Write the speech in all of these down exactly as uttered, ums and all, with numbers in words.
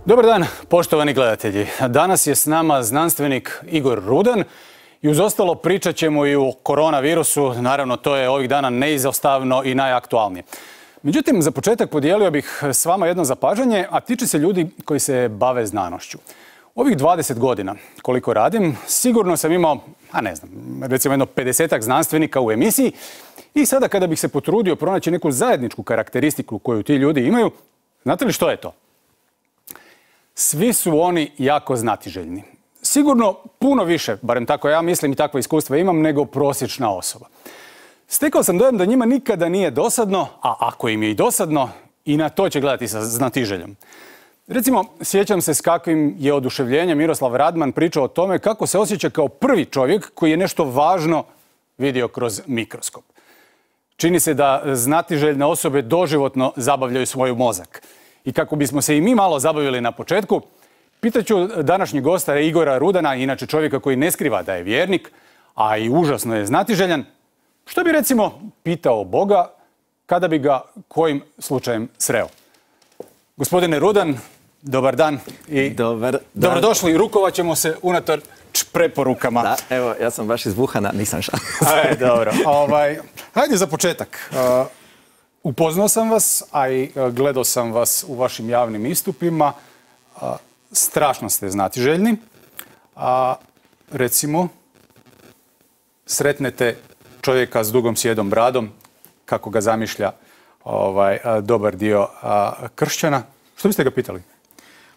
Dobar dan, poštovani gledatelji. Danas je s nama znanstvenik Igor Rudan i uz ostalo pričat ćemo i o koronavirusu. Naravno, to je ovih dana neizostavno i najaktualnije. Međutim, za početak podijelio bih s vama jedno zapažanje, a tiče se ljudi koji se bave znanošću. Ovih dvadeset godina, koliko radim, sigurno sam imao, a ne znam, recimo jedno pedesetak znanstvenika u emisiji i sada kada bih se potrudio pronaći neku zajedničku karakteristiku koju ti ljudi imaju, znate li što je to? Svi su oni jako znatiželjni. Sigurno puno više, barem tako ja mislim i takva iskustva imam, nego prosječna osoba. Stekao sam dojam da njima nikada nije dosadno, a ako im je i dosadno, i na to će gledati sa znatiželjom. Recimo, sjećam se s kakvim je oduševljenjem Miroslav Radman pričao o tome kako se osjeća kao prvi čovjek koji je nešto važno vidio kroz mikroskop. Čini se da znatiželjne osobe doživotno zabavljaju svoj mozak. I kako bismo se i mi malo zabavili na početku, pitaću današnjeg gosta Igora Rudana, inače čovjeka koji ne skriva da je vjernik, a i užasno je znatiželjan, što bi recimo pitao Boga kada bi ga kojim slučajem sreo. Gospodine Rudan, dobar dan i dobar dan. Dobrodošli. Rukovat ćemo se unator preporukama. Da, evo, ja sam baš izbuhana, nisam šan. Aj, dobro. Ovaj, hajde za početak. Uh, upoznao sam vas, a i uh, gledao sam vas u vašim javnim istupima. Uh, strašno ste znatiželjni. A recimo, sretnete čovjeka s dugom sjedom bradom, kako ga zamišlja ovaj, a, dobar dio a, kršćana. Što biste ga pitali?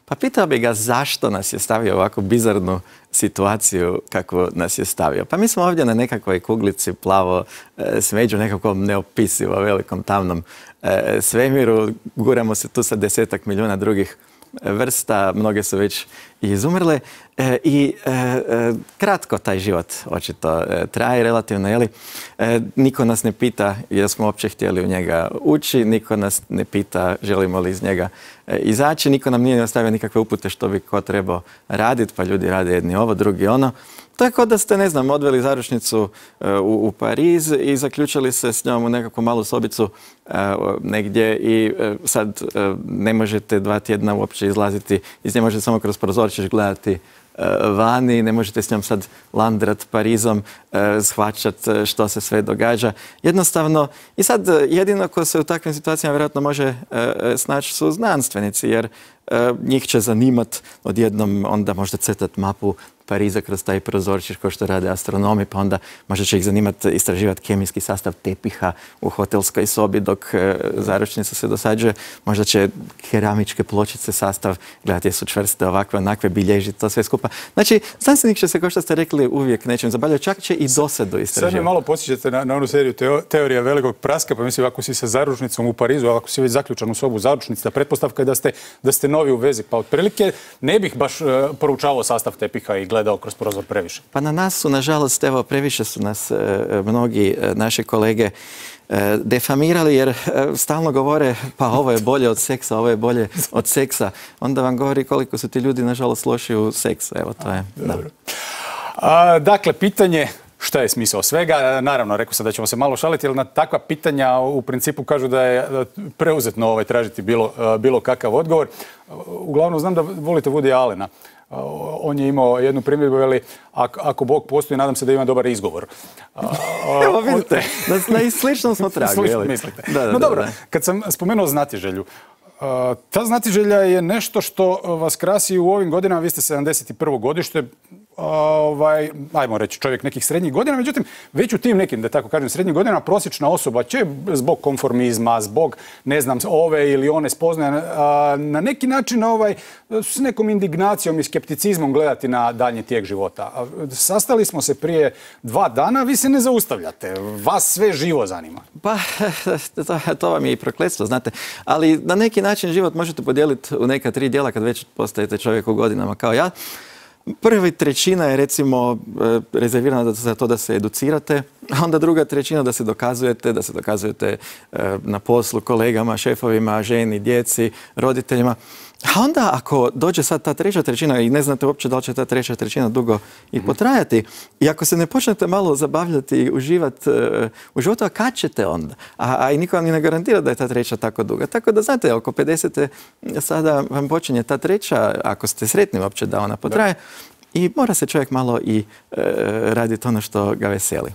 Pa pitao bi ga zašto nas je stavio ovako bizarnu situaciju kako nas je stavio. Pa mi smo ovdje na nekakvoj kuglici plavo e, smeđu, nekakvom neopisivo velikom tamnom e, svemiru. Guramo se tu sa desetak milijuna drugih vrsta, mnoge su već izumrle e, i e, e, kratko taj život očito e, traje relativno, jeli? E, niko nas ne pita jer smo uopće htjeli u njega ući, niko nas ne pita želimo li iz njega e, izaći, niko nam nije ostavio nikakve upute što bi ko trebao raditi, pa ljudi rade jedni ovo, drugi ono. Tako da ste, ne znam, odveli zaručnicu e, u, u Pariz i zaključili se s njom u nekakvu malu sobicu e, negdje i e, sad e, ne možete dva tjedna uopće izlaziti, iz nje možete samo kroz prozorčić gledati e, vani, ne možete s njom sad landrat Parizom, e, shvaćat što se sve događa. Jednostavno, i sad jedino ko se u takvim situacijama vjerojatno može e, snaći su znanstvenici, jer e, njih će zanimat odjednom onda možda crtat mapu Pariza kroz taj prozorčić kao što rade astronomi, pa onda možda će ih zanimati istraživati kemijski sastav tepiha u hotelskoj sobi dok e, zaručnica se dosađuje. Možda će keramičke pločice sastav gledati jesu čvrste, ovakve, onakve, bilježiti to sve skupa. Znači, znanstvenik će se, kao što ste rekli, uvijek nečem zabavljati, čak će i dosadu istraživati. Sad mi malo podsjećate na, na onu seriju teo, Teorija velikog praska, pa mislim, ako si sa zaručnicom u Parizu, ako si već zaključan u sobu zaručnica, pretpostavka je da ste, da ste novi u vezi, pa otprilike ne bih baš uh, poručavao sastav tepiha i gledao kroz prozor previše. Pa na nas su, nažalost, evo, previše su nas e, mnogi e, naše kolege e, defamirali jer e, stalno govore pa ovo je bolje od seksa, ovo je bolje od seksa. Onda vam govori koliko su ti ljudi, nažalost, loši u seksu. Evo, to je. A, da. A, dakle, pitanje šta je smisao svega? Naravno, rekao sam da ćemo se malo šaliti, jer na takva pitanja u principu kažu da je preuzetno ovaj, tražiti bilo, bilo kakav odgovor. Uglavnom, znam da volite Woody Allena. On je imao jednu primjedbu, veli, ako, ako Bog postoji, nadam se da ima dobar izgovor. Evo vidite, na, na sličnom smo tragu. Mislite. Da, da, no dobro, da, da. Kad sam spomenuo znatiželju, ta znatiželja je nešto što vas krasi u ovim godinama. Vi ste sedamdeset prvo godište, ovaj, ajmo reći čovjek nekih srednjih godina, međutim već u tim nekim, da tako kažem, srednjih godina prosječna osoba će zbog konformizma, zbog ne znam ove ili one spoznaje na neki način ovaj, s nekom indignacijom i skepticizmom gledati na daljnji tijek života. Sastali smo se prije dva dana, vi se ne zaustavljate, vas sve živo zanima. Pa to, to vam je i prokletstvo, znate, ali na neki način život možete podijeliti u neka tri dijela kad već postajete čovjek u godinama kao ja. Prvi trećina je recimo rezervirana za to da se educirate, a onda druga trećina da se dokazujete, da se dokazujete na poslu kolegama, šefovima, ženi, djeci, roditeljima. A onda ako dođe sad ta treća trećina i ne znate uopće da li će ta treća trećina dugo i potrajati, i ako se ne počnete malo zabavljati i uživati uh, u životu, a kad ćete onda? A, a i niko vam ni ne garantira da je ta treća tako duga. Tako da znate, oko pedesete sada vam počinje ta treća, ako ste sretni uopće da ona potraje, da. I mora se čovjek malo i uh, raditi ono što ga veseli.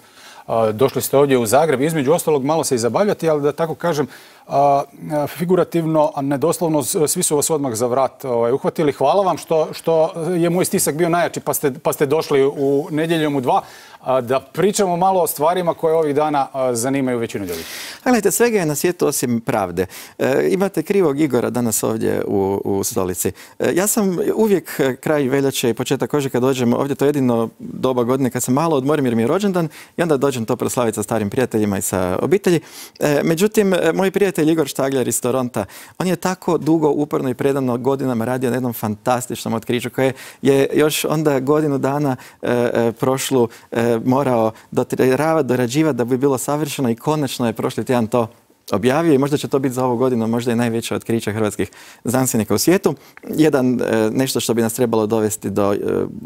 Došli ste ovdje u Zagreb, između ostalog malo se i zabavljati, ali da tako kažem, a, figurativno, a ne doslovno, svi su vas odmah za vrat ovaj, uhvatili. Hvala vam što, što je moj stisak bio najjači, pa ste, pa ste došli u Nedjeljom u dva, a, da pričamo malo o stvarima koje ovih dana a, zanimaju većinu ljudi. Gledajte, svega je na svijetu osim pravde. E, imate krivog Igora danas ovdje u, u stolici. E, ja sam uvijek kraj veljače i početak ožujka dođem ovdje, to je jedino doba godine kad se malo odmorim jer mi je rođendan i onda dođem to proslaviti sa starim prijateljima i sa obitelji. E, međutim, moj prijatelj Igor Štagljar iz Toronta, on je tako dugo, uporno i predano godinama radio na jednom fantastičnom otkriću koje je još onda godinu dana e, e, prošlu e, morao dotiravati, dorađivati da bi bilo savršeno i konačno je prošli tjedan to objavio i možda će to biti za ovu godinu možda i najveće otkriće hrvatskih znanstvenika u svijetu. Jedan, e, nešto što bi nas trebalo dovesti do e,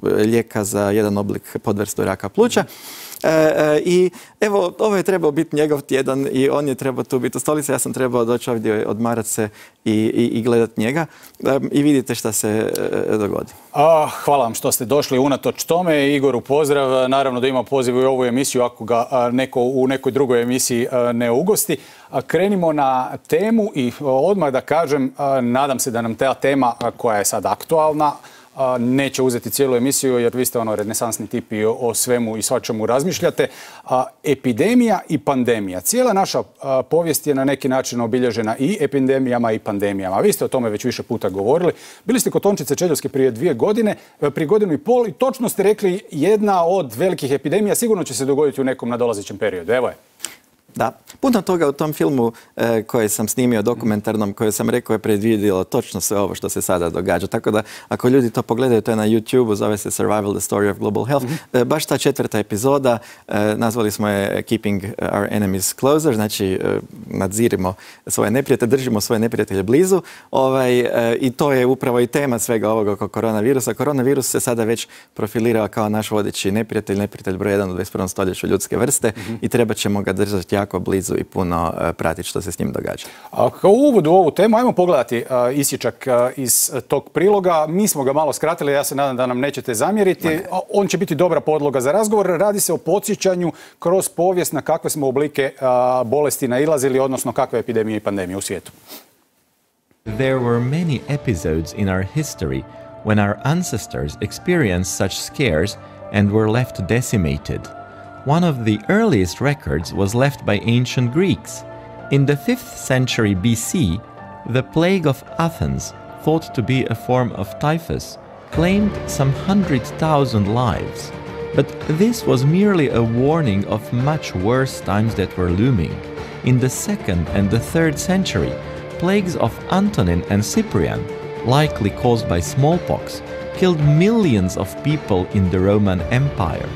lijeka za jedan oblik podvrstu raka pluća. E, e, I evo, ovo je trebao biti njegov tjedan i on je trebao tu biti u stolici. Ja sam trebao doći ovdje, odmarati se i, i, i gledati njega. E, I vidite šta se e, dogodi. A, hvala vam što ste došli unatoč tome. Igoru pozdrav. Naravno da ima poziv u ovu emisiju ako ga a, neko u nekoj drugoj emisiji a, ne ugosti. A, krenimo na temu i odmah da kažem, a, nadam se da nam ta tema a, koja je sad aktualna neće uzeti cijelu emisiju jer vi ste ono renesansni tip i o, o svemu i svačemu razmišljate. A, epidemija i pandemija. Cijela naša a, povijest je na neki način obilježena i epidemijama i pandemijama. Vi ste o tome već više puta govorili. Bili ste kod Tončice Čeljovske prije dvije godine, prije godinu i pol i točno ste rekli jedna od velikih epidemija sigurno će se dogoditi u nekom nadolazećem periodu. Evo je. Da, puno toga u tom filmu e, koji sam snimio dokumentarnom, koji sam rekao je predvidjelo točno sve ovo što se sada događa. Tako da ako ljudi to pogledaju, to je na YouTube, zove se Survival, the Story of Global Health. Mm-hmm. e, baš ta četvrta epizoda, e, nazvali smo je Keeping Our Enemies Closer, znači e, nadzirimo svoje neprijatelje, držimo svoje neprijatelje blizu. Ovaj, e, I to je upravo i tema svega ovoga oko koronavirusa. Koronavirus se sada već profilirao kao naš vodeći neprijatelj, neprijatelj broj jedan u dvadeset prvom stoljeću ljudske vrste mm-hmm. i treba ćemo ga držati jako blizu i puno uh, pratiti što se s njim događa. A kao uvod u ovu temu, ajmo pogledati uh, isječak uh, iz tog priloga. Mi smo ga malo skratili, ja se nadam da nam nećete zamjeriti. Ne. On će biti dobra podloga za razgovor. Radi se o podsjećanju kroz povijest na kakve smo oblike uh, bolesti nailazili, odnosno kakve epidemije i pandemije u svijetu. There were many episodes in our history when our ancestors experienced such scares and were left decimated. One of the earliest records was left by ancient Greeks. In the fifth century B C, the plague of Athens, thought to be a form of typhus, claimed some hundred thousand lives. But this was merely a warning of much worse times that were looming. In the second and the third century, plagues of Antonin and Cyprian, likely caused by smallpox, killed millions of people in the Roman Empire.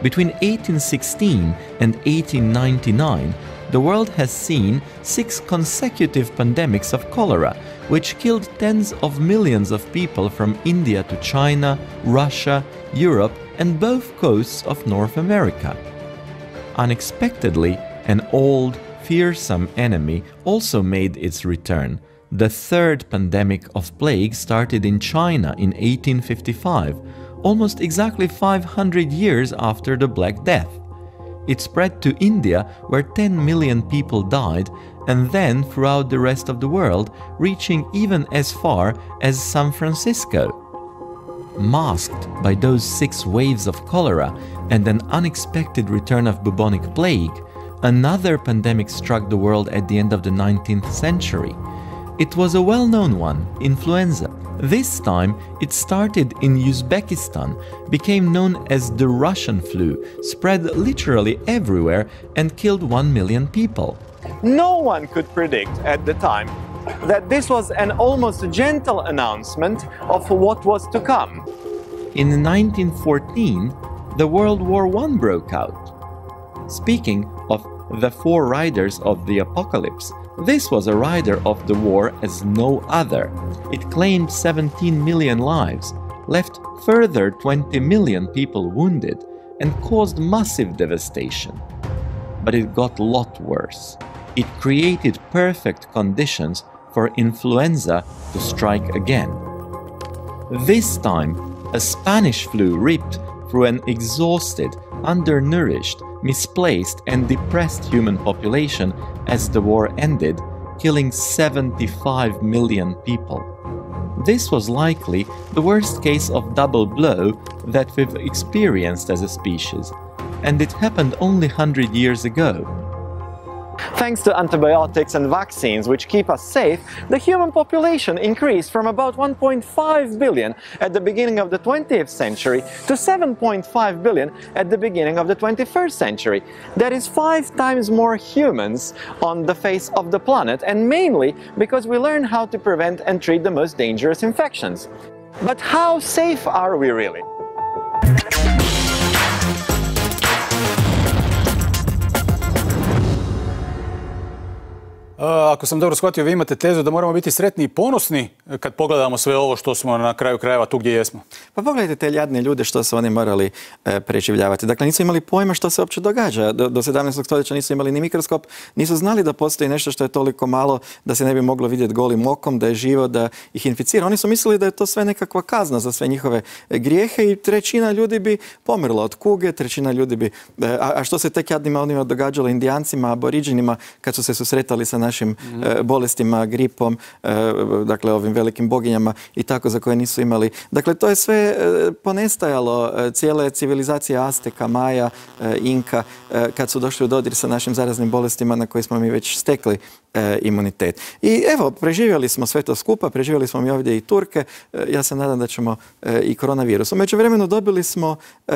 Between eighteen sixteen and eighteen ninety-nine, the world has seen six consecutive pandemics of cholera, which killed tens of millions of people from India to China, Russia, Europe, and both coasts of North America. Unexpectedly, an old, fearsome enemy also made its return. The third pandemic of plague started in China in eighteen fifty-five, almost exactly five hundred years after the Black Death. It spread to India, where ten million people died, and then throughout the rest of the world, reaching even as far as San Francisco. Masked by those six waves of cholera and an unexpected return of bubonic plague, another pandemic struck the world at the end of the nineteenth century. It was a well-known one, influenza. This time, it started in Uzbekistan, became known as the Russian flu, spread literally everywhere, and killed one million people. No one could predict at the time that this was an almost gentle announcement of what was to come. In nineteen fourteen, the World War One broke out. Speaking of the four riders of the apocalypse. This was a rider of the war as no other. It claimed seventeen million lives, left further twenty million people wounded, and caused massive devastation. But it got a lot worse. It created perfect conditions for influenza to strike again. This time, a Spanish flu ripped through an exhausted, undernourished, misplaced and depressed human population as the war ended, killing seventy-five million people. This was likely the worst case of double blow that we've experienced as a species, and it happened only one hundred years ago. Thanks to antibiotics and vaccines which keep us safe, the human population increased from about one point five billion at the beginning of the twentieth century to seven point five billion at the beginning of the twenty-first century. That is five times more humans on the face of the planet, and mainly because we learn how to prevent and treat the most dangerous infections. But how safe are we really? Ako sam dobro shvatio, vi imate tezu da moramo biti sretni i ponosni kad pogledamo sve ovo što smo na kraju krajeva tu gdje jesmo. Pa pogledajte te jadne ljude što su oni morali e, preživljavati. Dakle, nisu imali pojma što se uopće događa. Do, do sedamnaestog stoljeća nisu imali ni mikroskop, nisu znali da postoji nešto što je toliko malo da se ne bi moglo vidjeti golim okom, da je živo, da ih inficira. Oni su mislili da je to sve nekakva kazna za sve njihove grijehe i trećina ljudi bi pomrla od kuge, trećina ljudi bi... A, a što se tek jadnima onima događalo Indijancima, aboriđinima kad su se susretali sa našim mm. e, bolestima, gripom, e, dakle ovim velikim boginjama i tako za koje nisu imali. Dakle, to je sve e, ponestajalo, e, cijele civilizacije Azteka, Maja, e, Inka, e, kad su došli u dodir sa našim zaraznim bolestima na koje smo mi već stekli e, imunitet. I evo, preživjeli smo sve to skupa, preživjeli smo mi ovdje i Turke, e, ja se nadam da ćemo e, i koronavirus. U međuvremenu dobili smo e,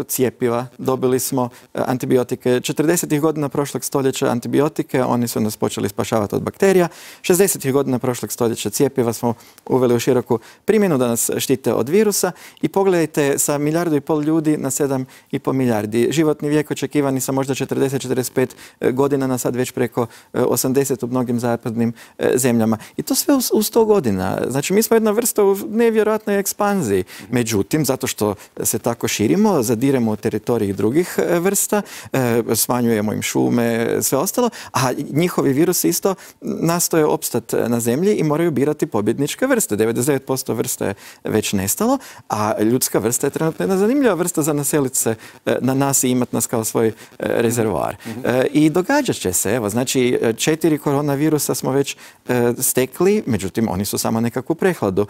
cijepiva, dobili smo e, antibiotike. četrdesetih godina prošlog stoljeća antibiotike, oni su nas počeli spašavati od bakterija. šezdesetih godina prošlog stoljeća cijepiva smo uveli u široku primjenu da nas štite od virusa i pogledajte sa milijardu i pol ljudi na sedam i pol milijardi. Životni vijek očekivani sa možda četrdeset do četrdeset pet godina na sad već preko osamdeset u mnogim zapadnim zemljama. I to sve u sto godina. Znači mi smo jedna vrsta u nevjerojatnoj ekspanziji. Međutim, zato što se tako širimo, zadiremo u teritoriji drugih vrsta, smanjujemo im šume, sve ostalo, a njihovi virusi isto nastoje opstati na zemlji i moraju birati pobjedničke vrste. devedeset devet posto vrsta je već nestalo, a ljudska vrsta je trenutno jedna zanimljiva vrsta za naseliti se na nas i imati nas kao svoj rezervoar. Mm-hmm. I događat će se, evo, znači četiri koronavirusa smo već stekli, međutim oni su samo nekakvu prehladu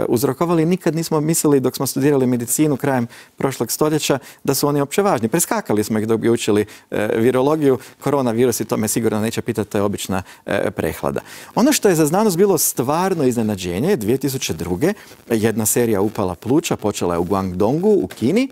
uzrokovali. Nikad nismo mislili dok smo studirali medicinu krajem prošlog stoljeća da su oni opće važni. Preskakali smo ih dok bi učili virologiju. Koronavirusi, to me sigurno neće pitati, to je obična prehlada. Ono što je za znanost bilo stvarno iznenađenje, dvije tisuće druge. jedna serija upala pluća, počela je u Guangdongu u Kini.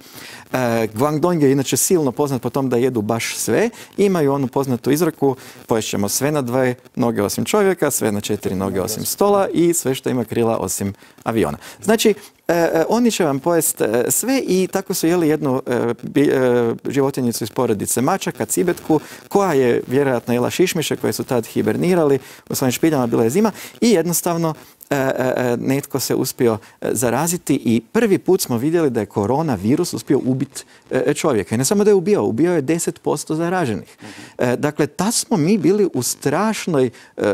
Guangdong je inače silno poznat po tom da jedu baš sve. Imaju onu poznatu izreku, poješćemo sve na dve noge osim čovjeka, sve na četiri noge osim stola i sve što ima krila osim aviona. Znači, E, oni će vam pojesti sve i tako su jeli jednu e, bi, e, životinjicu iz porodice mačaka, cibetku, koja je vjerojatno jela šišmiše koje su tad hibernirali u svojim špiljama, bila je zima i jednostavno e, e, netko se uspio zaraziti i prvi put smo vidjeli da je koronavirus uspio ubiti e, čovjeka. I ne samo da je ubio, ubio je deset posto zaraženih. E, dakle, ta smo mi bili u strašnoj e,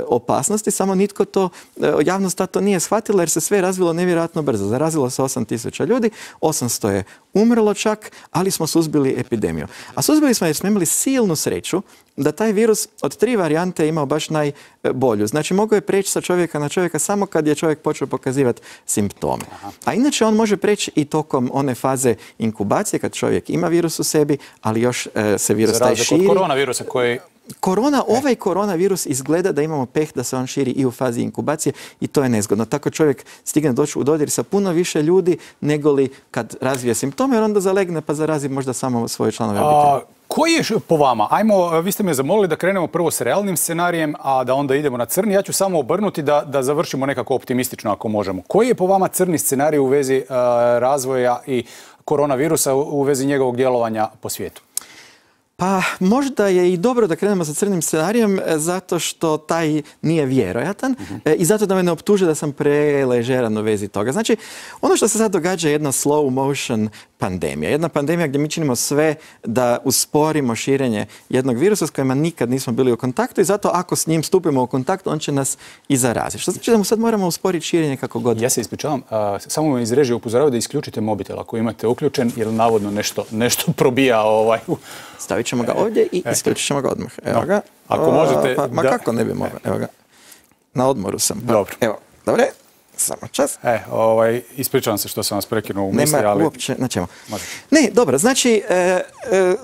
opasnosti, samo nitko to, e, javnost to nije shvatila jer se sve razvilo nevjerojatno brzo. Zarazilo se osam tisuća ljudi, osamsto je umrlo čak, ali smo suzbili epidemiju. A suzbili smo jer smo imali silnu sreću da taj virus od tri varijante je imao baš najbolju. Znači, mogao je preći sa čovjeka na čovjeka samo kad je čovjek počeo pokazivati simptome. A inače, on može preći i tokom one faze inkubacije, kad čovjek ima virus u sebi, ali još e, se virus taj širi. Za razliku od koronavirusa koji... Korona, ovaj koronavirus izgleda da imamo peh da se on širi i u fazi inkubacije i to je nezgodno. Tako čovjek stigne doći u dodir sa puno više ljudi nego li kad razvije simptome, jer onda zalegne pa zarazi možda samo svoje članove obitelji. Koji je po vama? Ajmo, vi ste me zamolili da krenemo prvo s realnim scenarijem, a da onda idemo na crni. Ja ću samo obrnuti da, da završimo nekako optimistično ako možemo. Koji je po vama crni scenarij u vezi uh, razvoja i koronavirusa, u vezi njegovog djelovanja po svijetu? Pa možda je i dobro da krenemo sa crnim scenarijem zato što taj nije vjerojatan uh-huh. i zato da me ne optuže da sam preležeran u vezi toga. Znači, ono što se sad događa je jedna slow motion pandemija. Jedna pandemija gdje mi činimo sve da usporimo širenje jednog virusa s kojima nikad nismo bili u kontaktu i zato ako s njim stupimo u kontakt, on će nas i zaraziti. Što znači da mu sad moramo usporiti širenje kako god. Ja se ispričavam, samo me iz režije upozoravaju da isključite mobitel ako imate uključen, jer navodno nešto, nešto probija ovaj... Stavit ćemo ga ovdje i isključit ćemo ga odmah. Evo ga. Ako možete... Pa, ma da... kako ne bi mogao? Evo ga. Na odmoru sam. Pa. Dobro. Evo, dobre. Samo čas. E, ovaj, ispričavam se što sam vas prekinuo u misli, Nema ali... uopće, na čemu. Ne, dobro, znači, e, e,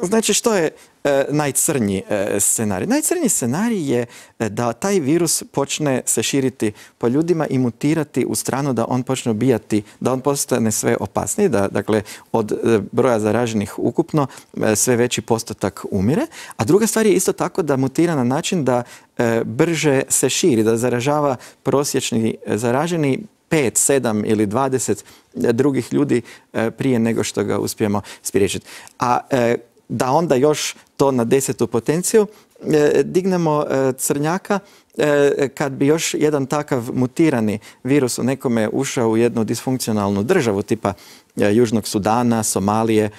znači što je e, najcrnji e, scenarij? Najcrnji scenarij je da taj virus počne se širiti po ljudima i mutirati u stranu da on počne ubijati, da on postane sve opasniji, da dakle od e, broja zaraženih ukupno e, sve veći postotak umire. A druga stvar je isto tako da mutira na način da e, brže se širi, da zaražava prosječni zaraženi pet, sedam ili dvadeset drugih ljudi prije nego što ga uspijemo spriječiti. A da onda još to na desetu potenciju dignemo crnjaka, kad bi još jedan takav mutirani virus u nekome ušao u jednu disfunkcionalnu državu tipa Južnog Sudana, Somalije,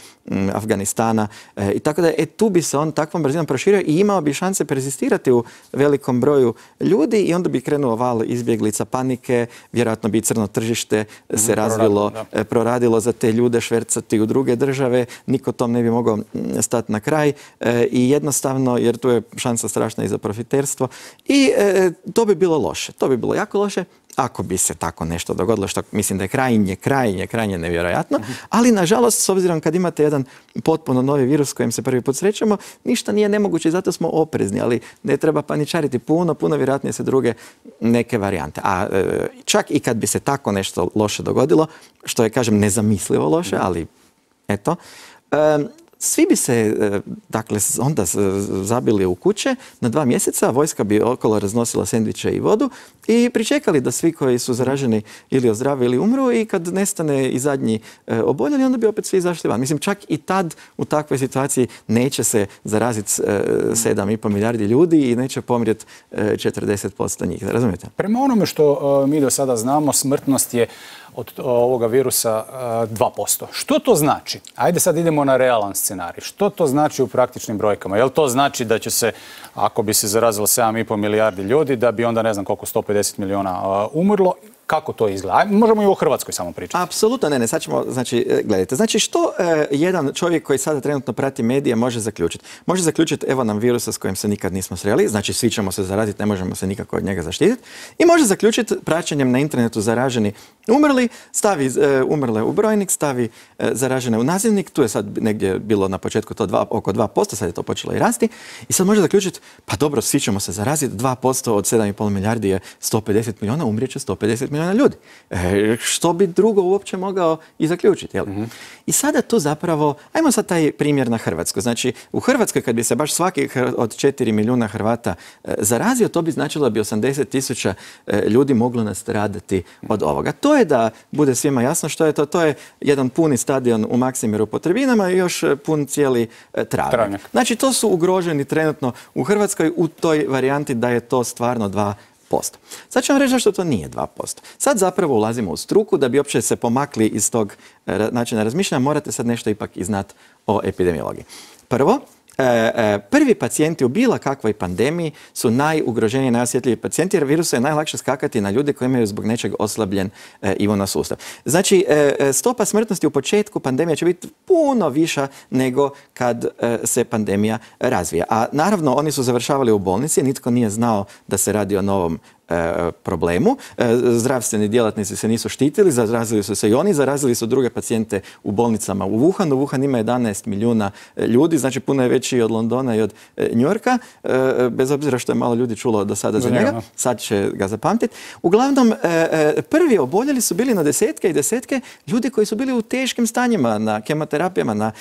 Afganistana i tako da e, tu bi se on takvom brzinom proširio i imao bi šanse persistirati u velikom broju ljudi i onda bi krenuo val izbjeglica, panike, vjerojatno bi crno tržište se mm, razvilo, proradilo, proradilo za te ljude, švercati u druge države, niko tom ne bi mogao stati na kraj e, i jednostavno, jer tu je šansa strašna i za profiterstvo i e, to bi bilo loše, to bi bilo jako loše. Ako bi se tako nešto dogodilo, što mislim da je krajnje, krajnje, krajnje nevjerojatno, ali nažalost, s obzirom kad imate jedan potpuno novi virus s kojim se prvi put srećemo, ništa nije nemoguće i zato smo oprezni, ali ne treba paničariti, puno, puno vjerojatnije se druge neke varijante. A e, čak i kad bi se tako nešto loše dogodilo, što je, kažem, nezamislivo loše, ali eto, e, svi bi se, dakle, onda zabili u kuće na dva mjeseca, vojska bi okolo raznosila sendviče i vodu i pričekali da svi koji su zaraženi ili ozdrave ili umru i kad nestane i zadnji e, oboljeli, onda bi opet svi izašli van. Mislim, čak i tad u takvoj situaciji neće se zaraziti e, sedam i pol milijardi ljudi i neće pomrijeti e, četrdeset posto njih. Razumijete? Prema onome što e, mi do sada znamo, smrtnost je od ovoga virusa dva posto. Što to znači? Ajde sad idemo na realan scenarij. Što to znači u praktičnim brojkama? Jel to znači da će se, ako bi se zarazilo sedam i pol milijardi ljudi, da bi onda ne znam koliko, sto pedeset milijuna umrlo? Kako to izgleda? Ajde, možemo i u Hrvatskoj samo pričati. Apsolutno ne, ne. Sad ćemo, znači, gledajte. Znači, što e, jedan čovjek koji sada trenutno prati medije može zaključiti? Može zaključiti, evo nam virusa s kojim se nikad nismo sreli, znači svi ćemo se zaraziti, ne možemo se nikako od njega zaštititi. I može zaključiti praćenjem na internetu zaraženi umrli, stavi e, umrle u brojnik, stavi e, zaražene u nazivnik, tu je sad negdje bilo na početku to dva, oko dva posto, sad je to počelo i rasti. I sad može zaključiti, pa dobro, svi ćemo se zaraziti, dva posto od sedam i pol milijardi je sto pedeset milijuna, umrijet će sto pedeset milijuna ljudi. E, što bi drugo uopće mogao i zaključiti, jel? Mm-hmm. I sada tu zapravo, ajmo sad taj primjer na Hrvatsku. Znači, u Hrvatskoj kad bi se baš svaki od četiri milijuna Hrvata e, zarazio, to bi značilo da bi osamdeset tisuća e, ljudi moglo nastradati od ovoga. To je da bude svima jasno što je to. To je jedan puni stadion u Maksimiru po Trebinama i još pun cijeli e, travnjak. Travnjak. Znači, to su ugroženi trenutno u Hrvatskoj u toj varijanti da je to stvarno dva posto. Sad ću vam reći zašto to nije dva posto. Sad zapravo ulazimo u struku, da bi uopće se pomakli iz tog načina razmišljanja, morate sad nešto ipak i znati o epidemiologiji. Prvo, prvi pacijenti u bilo kakvoj pandemiji su najugroženiji, najosjetljiviji pacijenti jer virusa je najlakše skakati na ljude koji imaju zbog nečeg oslabljen imuno sustav. Znači, stopa smrtnosti u početku pandemije će biti puno viša nego kad se pandemija razvija. A naravno, oni su završavali u bolnici, nitko nije znao da se radi o novom problemu. Zdravstveni djelatnici se nisu štitili, zarazili su se i oni, zarazili su druge pacijente u bolnicama u Wuhanu. Wuhan ima jedanaest milijuna ljudi, znači puno je veći od Londona i od Njujorka, bez obzira što je malo ljudi čulo do sada za njega. Sad će ga zapamtiti. Uglavnom, prvi oboljeli su bili na desetke i desetke ljudi koji su bili u teškim stanjima, na kemoterapijama, na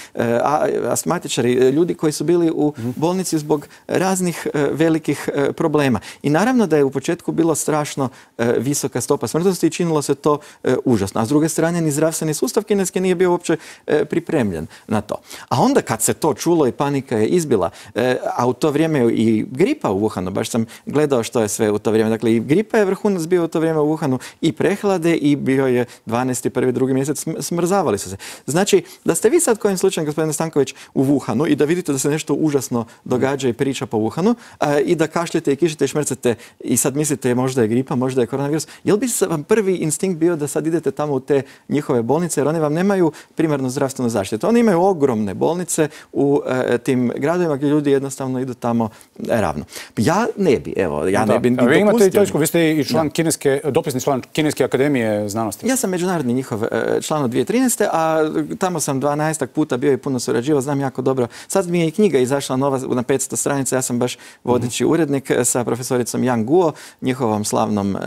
astmatičari, ljudi koji su bili u bolnici zbog raznih velikih problema. I naravno da je u početku bilo bila strašno e, visoka stopa smrtnosti i činilo se to e, užasno. A s druge strane, ni zdravstveni sustav kineski nije bio uopće e, pripremljen na to. A onda kad se to čulo i panika je izbila, e, a u to vrijeme i gripa u Wuhanu, baš sam gledao što je sve u to vrijeme. Dakle, i gripa je vrhunac bio u to vrijeme u Wuhanu, i prehlade, i bio je dvanaesti prvi drugi mjesec, smrzavali su se. Znači, da ste vi sad kojim slučajem, gospodine Stanković, u Wuhanu i da vidite da se nešto užasno događa i priča po Wuhanu a, i da kašljete i kišite i šmrcate i sad mislite možda je gripa, možda je koronavirus, jel bi vam prvi instinkt bio da sad idete tamo u te njihove bolnice, jer oni vam nemaju primarnu zdravstvenu zaštitu. Oni imaju ogromne bolnice u e, tim gradovima gdje ljudi jednostavno idu tamo e, ravno. Ja ne bi, evo, ja da. ne bi ni Vi imate i dopustio. točku, vi ste i član kineske, dopisni član Kineske akademije znanosti. Ja sam međunarodni njihov e, član od dvije tisuće trinaeste. a tamo sam dvanaestak puta bio i puno surađivao, znam jako dobro. Sad mi je i knjiga izašla nova na petsto stranica, ja sam baš vodeći mm-hmm. urednik sa profesoricom Yang Guo, njihovom slavnom e,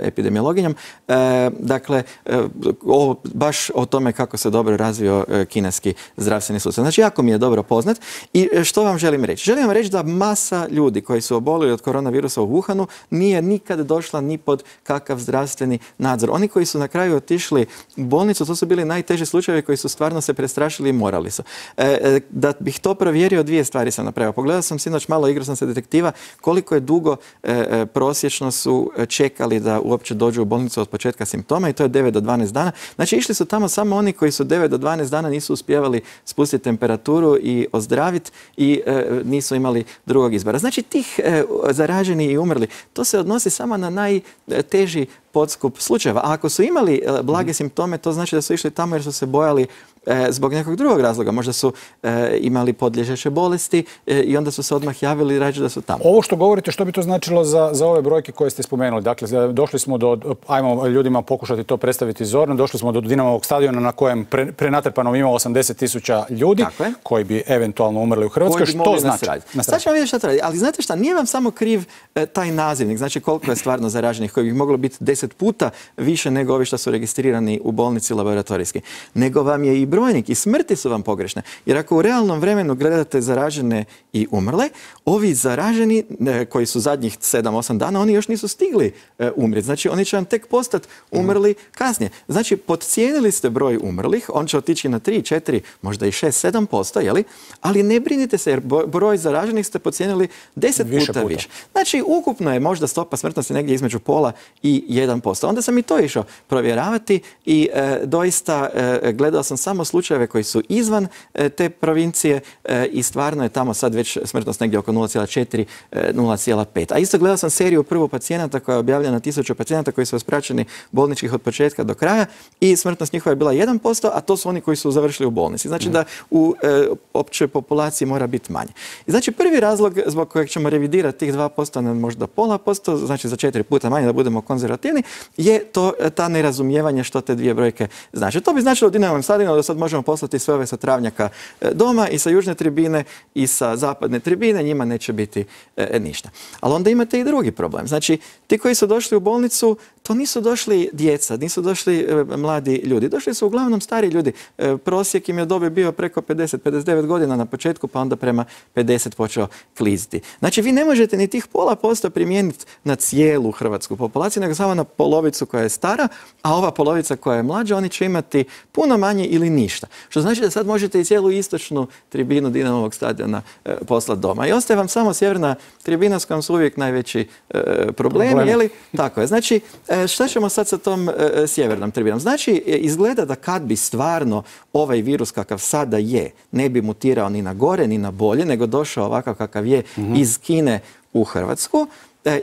epidemiologinjom. E, dakle, e, o, baš o tome kako se dobro razvio e, kineski zdravstveni sustav. Znači, jako mi je dobro poznat. I e, što vam želim reći? Želim vam reći da masa ljudi koji su obolili od koronavirusa u Wuhanu nije nikad došla ni pod kakav zdravstveni nadzor. Oni koji su na kraju otišli u bolnicu, to su bili najteži slučajevi koji su stvarno se prestrašili i morali su. E, da bih to provjerio, dvije stvari sam napravio. Pogledao sam sinoć malo, igrao sam se detektiva, koliko je dugo e, prosječno su čekali da uopće dođu u bolnicu od početka simptoma, i to je devet do dvanaest dana. Znači, išli su tamo samo oni koji su devet do dvanaest dana nisu uspjevali spustiti temperaturu i ozdraviti i e, nisu imali drugog izbora. Znači, tih e, zaraženi i umrli, to se odnosi samo na najteži podskup slučajeva. A ako su imali e, blage simptome, to znači da su išli tamo jer su se bojali e, zbog nekog drugog razloga. Možda su e, imali podliježeće bolesti e, i onda su se odmah javili i rađe da su tamo. Ovo što govorite, što bi to značilo za, za ove brojke koje ste spomenuli? Dakle, došli smo do, ajmo ljudima pokušati to predstaviti zorno, došli smo do Dinamovog stadiona na kojem pre, prenatrpanom ima osamdeset tisuća ljudi koji bi eventualno umrli u Hrvatskoj. Što znači? Sad ćemo vidjeti šta to radi. Ali znate šta, nije vam samo kriv e, taj nazivnik, znači koliko je stvarno zaraženih, koji bi moglo biti deset puta više nego ovi što su registrirani u bolnici laboratorijski. Nego vam je i brojnik i smrti su vam pogrešne. Jer ako u realnom vremenu gledate zaražene i umrle, ovi zaraženi e, koji su zadnjih sedam osam dana, oni još nisu stigli e, umrijeti. Znači, oni će vam tek postati umrli kasnije. Znači, podcijenili ste broj umrlih, on će otići na tri, četiri, možda i šest, sedam posto, jeli? Ali ne brinite se, jer broj zaraženih ste podcijenili deset puta, puta više. Znači, ukupno je možda stopa smrtnosti negdje između pola i jedan posto. Onda sam i to išao provjeravati i e, doista e, gledao sam samo slučajeve koji su izvan e, te provincije e, i stvarno je tamo sad već smrtnost negdje oko nula zarez četiri, nula zarez pet. A isto gledao sam seriju prvu pacijenata koja je objavljena na tisuću pacijenata koji su ispraćeni bolničkih od početka do kraja i smrtnost njihova je bila jedan posto, a to su oni koji su završili u bolnici. Znači da u e, općoj populaciji mora biti manje. I znači prvi razlog zbog kojeg ćemo revidirati tih dva posto na možda pola posto, znači za četiri puta manje da budemo konzervativni, je to ta nerazumijevanje što te dvije brojke znači. To bi značilo u Dinamovom stadionu da sad možemo poslati sve ove sa travnjaka doma i sa južne tribine i sa zapadne tribine, njima neće biti e, ništa. Ali onda imate i drugi problem. Znači, ti koji su došli u bolnicu, to nisu došli djeca, nisu došli e, mladi ljudi. Došli su uglavnom stari ljudi. E, prosjek im je dobi bio preko pedeset, pedeset devet godina na početku, pa onda prema pedeset počeo kliziti. Znači, vi ne možete ni tih pola posto primijeniti na cijelu hrvatsku populaciju, nego samo na polovicu koja je stara, a ova polovica koja je mlađa, oni će imati puno manje ili ništa. Što znači da sad možete i cijelu istočnu tribinu Dinamovog stadiona e, poslati doma. I ostaje vam samo sjeverna tribina s kojom su uvijek najveći e, problemi. Problem. Je li? Tako je. Znači, e, šta ćemo sad sa tom e, sjevernom tribinom? Znači, e, izgleda da kad bi stvarno ovaj virus kakav sada je, ne bi mutirao ni na gore, ni na bolje, nego došao ovakav kakav je mm-hmm. iz Kine u Hrvatsku,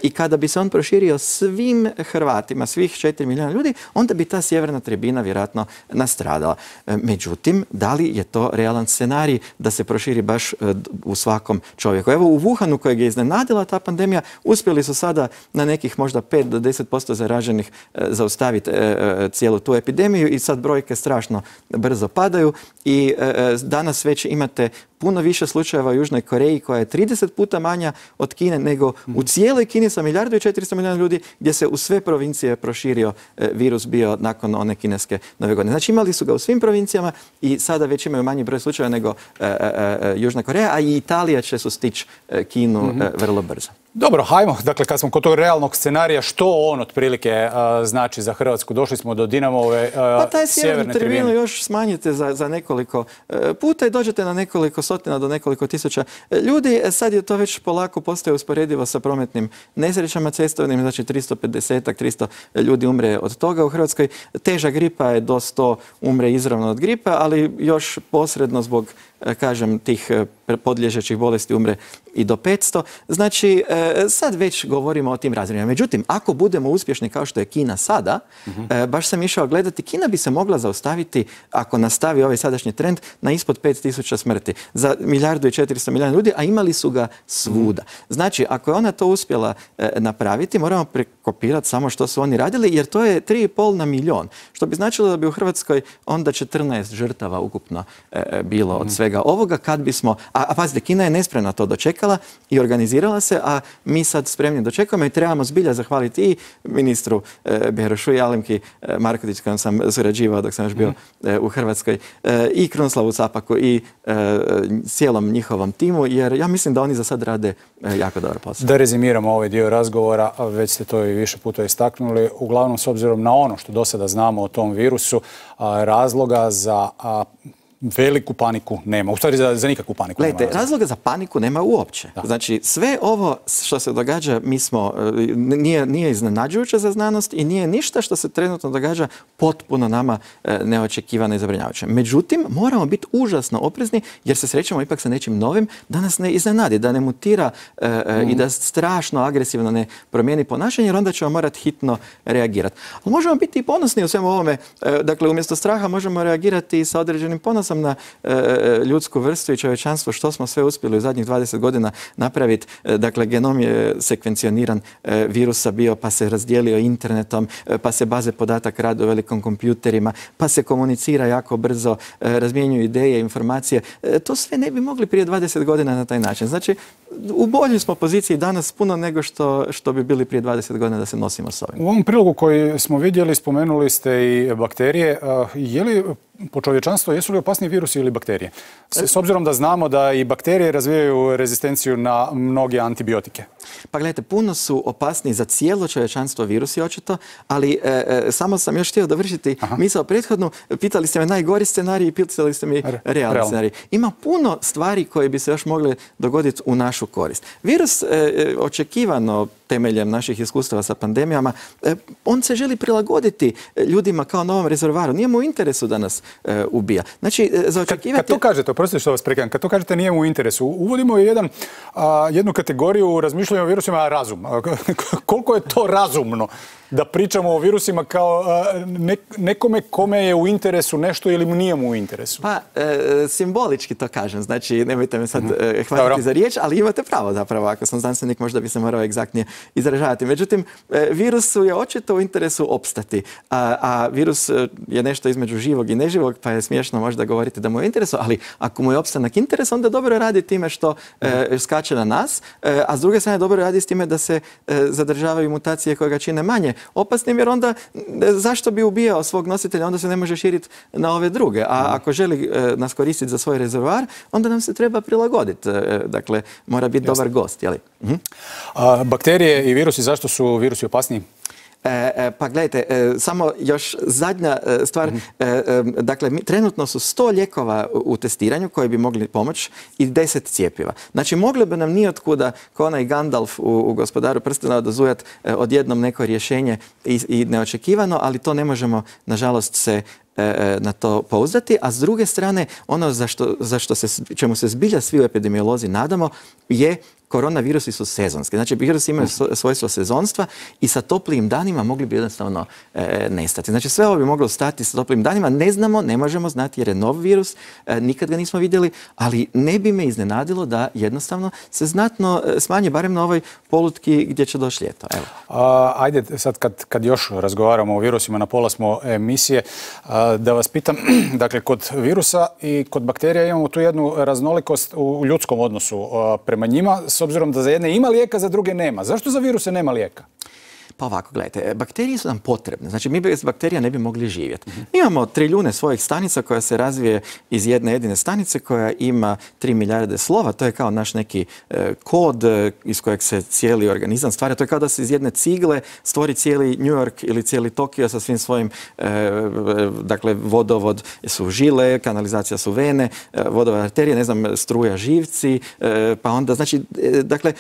i kada bi se on proširio svim Hrvatima, svih četiri milijuna ljudi, onda bi ta sjeverna tribina vjerojatno nastradala. Međutim, da li je to realan scenarij da se proširi baš u svakom čovjeku? Evo u Wuhanu kojeg je iznenadila ta pandemija, uspjeli su sada na nekih možda pet do deset posto zaraženih zaustaviti cijelu tu epidemiju i sad brojke strašno brzo padaju i danas već imate puno više slučajeva u Južnoj Koreji koja je trideset puta manja od Kine nego u cijeloj Kini sa milijardu i četiristo milijuna ljudi gdje se u sve provincije proširio virus bio nakon one kineske nove godine. Znači imali su ga u svim provincijama i sada već imaju manji broj slučajeva nego e, e, e, Južna Koreja, a i Italija će sustići Kinu mm-hmm. e, vrlo brzo. Dobro, hajmo, dakle, kad smo kod tog realnog scenarija, što on otprilike uh, znači za Hrvatsku? Došli smo do Dinamove uh, pa taj sjeverne tribinu još smanjite za, za nekoliko uh, puta i dođete na nekoliko stotina do nekoliko tisuća ljudi. Sad je to već polako postaje usporedivo sa prometnim nesrećama cestovnim, znači tristo pedeset tristo ljudi umre od toga u Hrvatskoj. Teža gripa je do sto umre izravno od gripa, ali još posredno zbog, kažem, tih podliježećih bolesti umre i do petsto. Znači, sad već govorimo o tim razmjerima. Međutim, ako budemo uspješni kao što je Kina sada, uh-huh. baš sam išao gledati, Kina bi se mogla zaustaviti, ako nastavi ovaj sadašnji trend, na ispod pet tisuća smrti. Za milijardu i četiristo milijuna ljudi, a imali su ga svuda. Znači, ako je ona to uspjela e, napraviti, moramo prekopirati samo što su oni radili, jer to je tri i pol na milijon. Što bi značilo da bi u Hrvatskoj onda četrnaest žrtava ukupno e, bilo od svega ovoga, kad bismo... A, a pazite, Kina je nespremna to dočekala i organizirala se, a mi sad spremni dočekujemo i trebamo zbilja zahvaliti i ministru e, Berošu i Alemki e, Markotić, kojom sam surađivao dok sam još bio e, u Hrvatskoj, e, i Krunoslavu Capaku i e, cijelom njihovom timu, jer ja mislim da oni za sad rade e, jako dobar posao. Da rezimiramo ovaj dio razgovora, već ste to i više puta istaknuli, uglavnom s obzirom na ono što do sada znamo o tom virusu, a, razloga za... A, veliku paniku nema. U stvari za, za nikakvu paniku Gledajte, nema. Razloga za paniku nema uopće. Da. Znači, sve ovo što se događa, mi smo, nije, nije iznenađujuće za znanost i nije ništa što se trenutno događa potpuno nama neočekivano i zabrinjavajuće. Međutim, moramo biti užasno oprezni jer se srećemo ipak sa nečim novim da nas ne iznenadi, da ne mutira e, mm. i da strašno agresivno ne promijeni ponašanje, jer onda ćemo morati hitno reagirati. Ali možemo biti i ponosni u svemu ovome. E, dakle, umjesto straha možemo reagirati sa određenim ponosom sam na e, ljudsku vrstu i čovječanstvo, što smo sve uspjeli u zadnjih dvadeset godina napraviti. E, dakle, genom je sekvencioniran e, virusa bio, pa se razdijelio internetom, e, pa se baze podataka rade u velikom kompjuterima, pa se komunicira jako brzo, e, razmjenjuju ideje, informacije. E, to sve ne bi mogli prije dvadeset godina na taj način. Znači, u boljoj smo poziciji danas puno nego što, što bi bili prije dvadeset godina da se nosimo s ovim. U ovom prilogu koji smo vidjeli, spomenuli ste i bakterije. Je li po čovječanstvo, jesu li opasniji virusi ili bakterije? S obzirom da znamo da i bakterije razvijaju rezistenciju na mnoge antibiotike. Pa gledajte, puno su opasniji za cijelo čovječanstvo virusi očito, ali e, e, samo sam još htio dovršiti misao prethodnu. Pitali ste me najgori scenarij i pitali ste mi realni Real. scenarij. Ima puno stvari koje bi se još mogle dogoditi u našu korist. Virus e, očekivano temeljem naših iskustava sa pandemijama, e, on se želi prilagoditi ljudima kao novom rezervoaru. Nije mu u interesu da nas e, ubija. Znači, e, za očekivati... Kad, kad to kažete, oprostite što vas prekidam, kad to kažete nije mu u interesu, uvodimo jedan, a, jednu kategoriju u razmišljanju o virusima, razum. Koliko je to razumno da pričamo o virusima kao ne, nekome kome je u interesu nešto ili mu nije mu u interesu? Pa, e, simbolički to kažem. Znači, nemojte me sad e, hvatiti Dobro. za riječ, ali imate pravo zapravo. Ako sam znanstvenik, možda bi se morao egzaktnije izražavati. Međutim, e, virusu je očito u interesu opstati. A, a virus je nešto između živog i neživog, pa je smiješno možda govoriti da mu je u interesu, ali ako mu je opstanak interes, onda dobro radi time što e, skače na nas, e, a s druge strane dobro radi s time da se e, zadržavaju mutacije koje ga čine manje opasnim, jer onda zašto bi ubijao svog nositelja, onda se ne može širiti na ove druge. A ako želi e, nas koristiti za svoj rezervoar, onda nam se treba prilagoditi. E, dakle, mora biti Jasne. dobar gost. Jeli? Mhm. A, bakterije i virusi, zašto su virusi opasniji? E, e, pa gledajte, e, samo još zadnja e, stvar. Mm-hmm. e, e, dakle, mi, trenutno su sto lijekova u, u testiranju koji bi mogli pomoći i deset cijepiva. Znači, moglo bi nam nijotkuda, kao onaj Gandalf u, u Gospodaru prstena, odozujat e, odjednom neko rješenje i, i neočekivano, ali to ne možemo, nažalost, se na to pouzdati, a s druge strane ono za što, za što se, čemu se zbilja svi u epidemiolozi nadamo je koronavirusi su sezonski. Znači, virusi imaju svojstvo sezonstva i sa toplijim danima mogli bi jednostavno e, nestati. Znači, sve ovo bi moglo stati sa toplijim danima. Ne znamo, ne možemo znati jer je nov virus, e, nikad ga nismo vidjeli, ali ne bi me iznenadilo da jednostavno se znatno smanji, barem na ovoj polutki gdje će doći ljeto. Evo. A, ajde, sad kad, kad još razgovaramo o virusima, na pola smo emisije, a, da vas pitam, dakle, kod virusa i kod bakterija imamo tu jednu raznolikost u ljudskom odnosu a, prema njima. s obzirom da za jedne ima lijeka, za druge nema. Zašto za viruse nema lijeka? Pa ovako, gledajte, bakterije su nam potrebne. Znači, mi bez bakterija ne bi mogli živjeti. Mi imamo trilijune svojih stanica koja se razvije iz jedne jedine stanice koja ima tri milijarde slova. To je kao naš neki e, kod e, iz kojeg se cijeli organizam stvara. To je kao da se iz jedne cigle stvori cijeli New York ili cijeli Tokio sa svim svojim, e, dakle, vodovod su žile, kanalizacija su vene, e, vodovod arterije, ne znam, struja živci, e, pa onda, znači, e, dakle,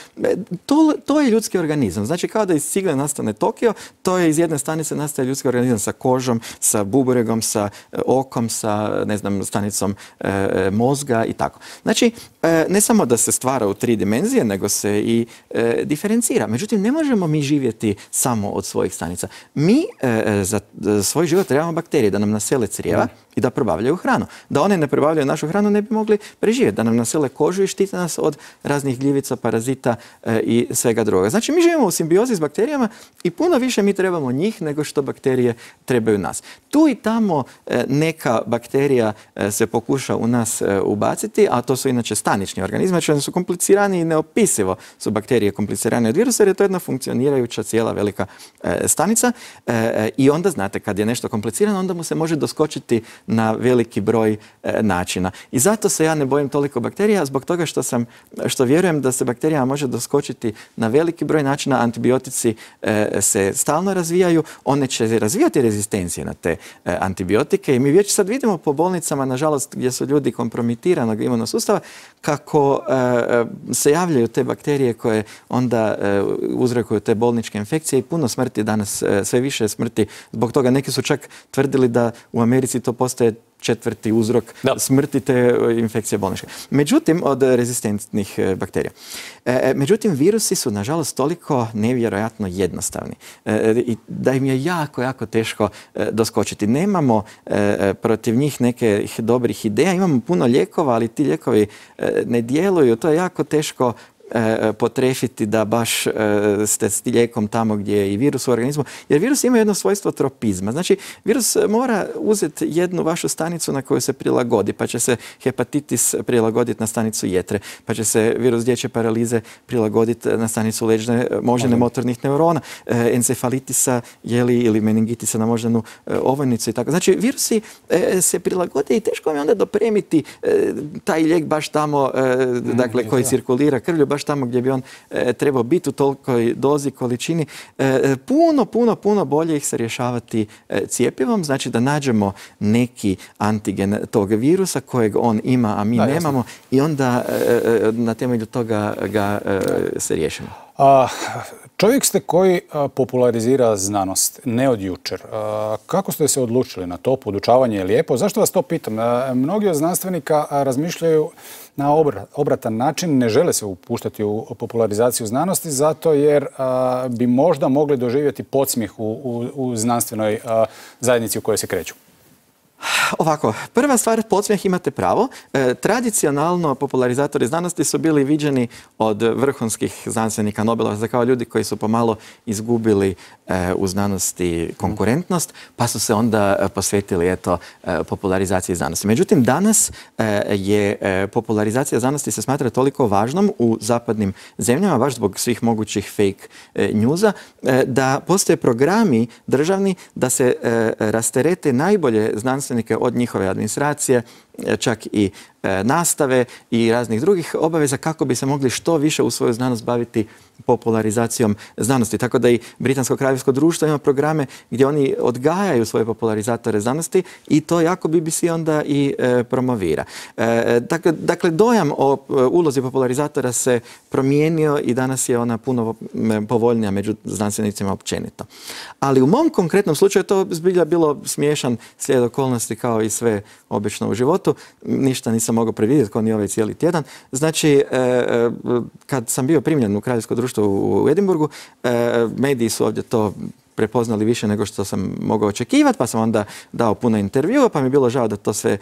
to, to je ljudski organizam. Znači, kao da iz cigle nastane Tokio, to je iz jedne stanice nastaje ljudski organizam sa kožom, sa buburegom, sa okom, sa, ne znam, stanicom e, mozga i tako. Znači, e, ne samo da se stvara u tri dimenzije, nego se i e, diferencira. Međutim, ne možemo mi živjeti samo od svojih stanica. Mi e, za svoj život trebamo bakterije da nam nasele crijeva mm. i da probavljaju hranu. Da one ne probavljaju našu hranu, ne bi mogli preživjeti. Da nam nasele kožu i štite nas od raznih gljivica, parazita e, i svega drugoga. Znači, mi živimo u simbiozi s bakterijama i puno više mi trebamo njih nego što bakterije trebaju nas. Tu i tamo e, neka bakterija e, se pokuša u nas e, ubaciti, a to su inače stanični organizmi, znači oni su komplicirani i neopisivo su bakterije komplicirane od virusa, jer je to jedna funkcionirajuća cijela velika e, stanica e, i onda, znate, kad je nešto komplicirano, onda mu se može doskočiti na veliki broj e, načina. I zato se ja ne bojim toliko bakterija, zbog toga što sam, što vjerujem da se bakterijama može doskočiti na veliki broj načina. Antibiotici e, se stalno razvijaju, one će razvijati rezistencije na te e, antibiotike i mi već sad vidimo po bolnicama, nažalost, gdje su ljudi kompromitiranog imunog sustava, kako e, se javljaju te bakterije koje onda e, uzrokuju te bolničke infekcije i puno smrti danas, e, sve više smrti. Zbog toga neki su čak tvrdili da u Americi to postaje četvrti uzrok da. smrti te infekcije bolničke. Međutim, od rezistentnih bakterija. E, međutim, virusi su, nažalost, toliko nevjerojatno jednostavni e, i da im je jako, jako teško e, doskočiti. Nemamo e, protiv njih neke dobrih ideja, imamo puno lijekova, ali ti lijekovi e, ne djeluju, to je jako teško E, potrefiti da baš e, ste s lijekom tamo gdje je i virus u organizmu, jer virus ima jedno svojstvo tropizma. Znači, virus mora uzeti jednu vašu stanicu na koju se prilagodi, pa će se hepatitis prilagoditi na stanicu jetre, pa će se virus dječje paralize prilagoditi na stanicu leđne moždane motornih neurona, e, encefalitisa jeli, ili meningitisa na moždanu e, ovojnicu i tako. Znači, virusi e, se prilagode i teško je onda dopremiti e, taj lijek baš tamo, e, dakle, mm, koji da. cirkulira krvlju, baš tamo gdje bi on e, trebao biti u tolikoj dozi, količini. E, puno, puno, puno bolje ih se rješavati e, cijepivom. Znači da nađemo neki antigen tog virusa kojeg on ima, a mi da, nemamo jasno. I onda e, na temelju toga ga e, se riješimo. A, čovjek ste koji a, popularizira znanost, ne od jučer. A, kako ste se odlučili na to? Podučavanje je lijepo. Zašto vas to pitam? A, mnogi od znanstvenika a, razmišljaju na obratan način, ne žele se upuštati u popularizaciju znanosti, zato jer a, bi možda mogli doživjeti podsmijeh u, u, u znanstvenoj a, zajednici u kojoj se kreću. Ovako, prva stvar, podsmijeh, imate pravo. E, tradicionalno popularizatori znanosti su bili viđeni od vrhunskih znanstvenika Nobelovaca kao ljudi koji su pomalo izgubili e, u znanosti konkurentnost, pa su se onda posvetili eto, e, popularizaciji znanosti. Međutim, danas e, je e, popularizacija znanosti se smatra toliko važnom u zapadnim zemljama, baš zbog svih mogućih fake e, newsa, e, da postoje programi državni da se e, rasterete najbolje znanstvenike od njihove administracije, čak i e, nastave i raznih drugih obaveza kako bi se mogli što više u svoju znanost baviti popularizacijom znanosti. Tako da i Britansko kraljevsko društvo ima programe gdje oni odgajaju svoje popularizatore znanosti i to jako B B C onda i e, promovira. E, dakle, dakle, dojam o e, ulozi popularizatora se promijenio i danas je ona puno povoljnija među znanstvenicima općenito. Ali u mom konkretnom slučaju to zbilja bilo smiješan slijed okolnosti kao i sve obično u životu. Ništa nisam mogao predvidjeti kao ni ovaj cijeli tjedan. Znači, e, kad sam bio primljen u Kraljevsko društvo u Edinburgu, e, mediji su ovdje to prepoznali više nego što sam mogao očekivati, pa sam onda dao puno intervjua, pa mi je bilo žao da to sve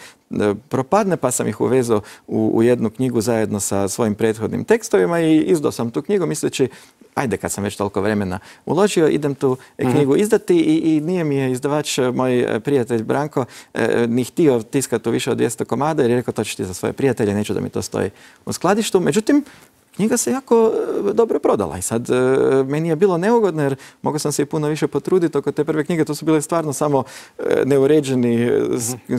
propadne, pa sam ih uvezao u, u jednu knjigu zajedno sa svojim prethodnim tekstovima i izdao sam tu knjigu misleći, ajde kad sam već toliko vremena uložio, idem tu knjigu izdati i, i nije mi je izdavač, moj prijatelj Branko, eh, ni htio tiskati u više od dvjesto komada jer je rekao to ćeš ti za svoje prijatelje, neću da mi to stoji u skladištu. Međutim, knjiga se jako dobro prodala i sad meni je bilo neugodno jer mogao sam se i puno više potruditi oko te prve knjige. To su bile stvarno samo neuređeni,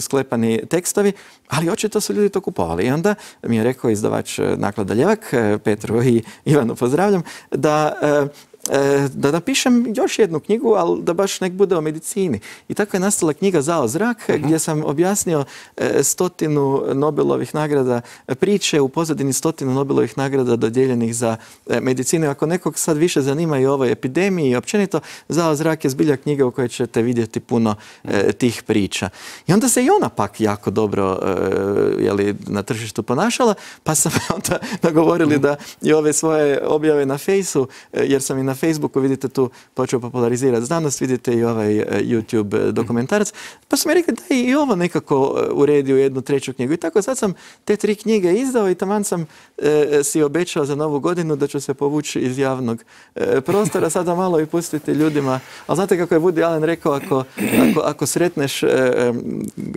sklepani tekstovi, ali očito su ljudi to kupovali. I onda mi je rekao izdavač Naklada Ljevak, Petru i Ivanu pozdravljam, da da napišem još jednu knjigu, ali da baš nek bude o medicini. I tako je nastala knjiga Zao zrak, uh-huh. gdje sam objasnio stotinu Nobelovih nagrada, priče u pozadini stotinu Nobelovih nagrada dodijeljenih za medicinu. Ako nekog sad više zanima i o ovoj epidemiji i općenito, Zao zrak je zbilja knjiga u kojoj ćete vidjeti puno uh, tih priča. I onda se i ona pak jako dobro uh, jeli, na tržištu ponašala, pa sam onda nagovorili uh-huh. da i ove svoje objave na Fejsu, jer sam i na Facebooku, vidite tu, počeo popularizirati znanost, vidite i ovaj YouTube dokumentarac, pa su mi rekli da i ovo nekako uredi u jednu treću knjigu. I tako sad sam te tri knjige izdao i taman sam e, si obećao za novu godinu da ću se povući iz javnog e, prostora, sada malo i pustiti ljudima. Ali znate kako je Woody Allen rekao, ako, ako, ako sretneš e,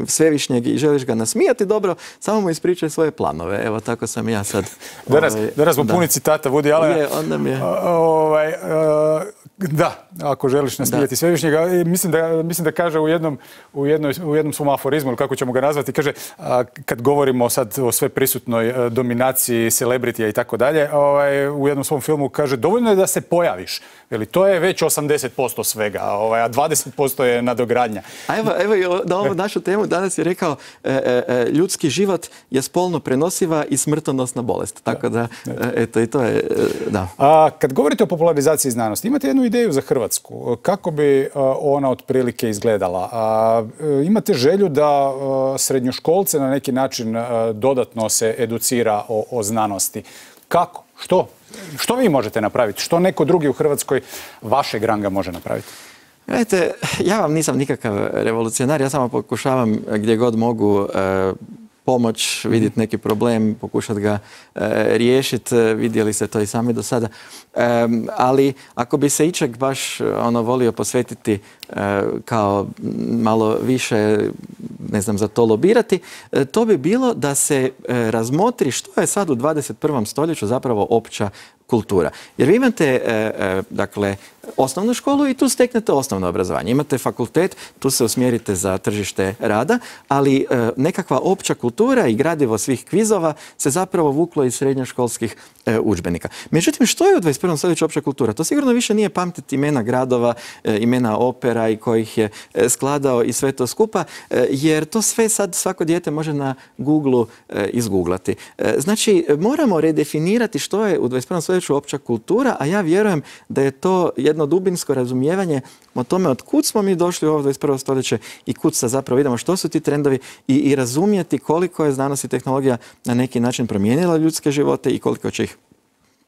svevišnjeg i želiš ga nasmijati dobro, samo mu ispričaj svoje planove. Evo, tako sam ja sad. Danas, ovaj, danas smo da. puni citata Woody Allena. Je, onda mi je... Ovaj, Uh, da, ako želiš nasmijati svevišnjega, mislim da, mislim da kaže u jednom, u, jednoj, u jednom svom aforizmu, kako ćemo ga nazvati, kaže, a, kad govorimo sad o sve prisutnoj a, dominaciji celebritija i tako dalje, ovaj, u jednom svom filmu kaže, dovoljno je da se pojaviš. Veli, to je već osamdeset posto svega, ovaj, a dvadeset posto je nadogradnja. A evo, evo na ovu našu temu danas je rekao, e, e, ljudski život je spolno prenosiva i smrtonosna bolest. Tako da, da eto, i to je, da. A, kad govorite o popularizaciji znanosti, imate jednu ideju za Hrvatsku. Kako bi ona otprilike izgledala? A, imate želju da srednjoškolce na neki način dodatno se educira o, o znanosti. Kako? Što? Što vi možete napraviti? Što neko drugi u Hrvatskoj vašeg ranga može napraviti? Gledajte, ja vam nisam nikakav revolucionar, ja samo pokušavam gdje god mogu e, pomoć, vidjeti neki problem, pokušati ga e, riješiti, vidjeli ste to i sami do sada. E, ali ako bi se ičeg baš ono volio posvetiti e, kao malo više, ne znam, za to lobirati, e, to bi bilo da se e, razmotri što je sad u dvadeset prvom stoljeću zapravo opća kultura. Jer vi imate, e, e, dakle, osnovnu školu i tu steknete osnovno obrazovanje. Imate fakultet, tu se usmjerite za tržište rada, ali e, nekakva opća kultura i gradivo svih kvizova se zapravo vuklo iz srednjoškolskih e, udžbenika. Međutim, što je u dvadeset prvom stoljeću opća kultura? To sigurno više nije pamtiti imena gradova, e, imena opera i kojih je e, skladao i sve to skupa, e, jer to sve sad svako dijete može na Googlu e, izguglati. E, znači, moramo redefinirati što je u dvadeset prvom stoljeću opća kultura, a ja vjerujem da je to jedno dubinsko razumijevanje o tome od kud smo mi došli u ovo dvadeset prvo stoljeće i kud sad zapravo vidimo što su ti trendovi i, i razumjeti koliko je znanost i tehnologija na neki način promijenila ljudske živote i koliko će ih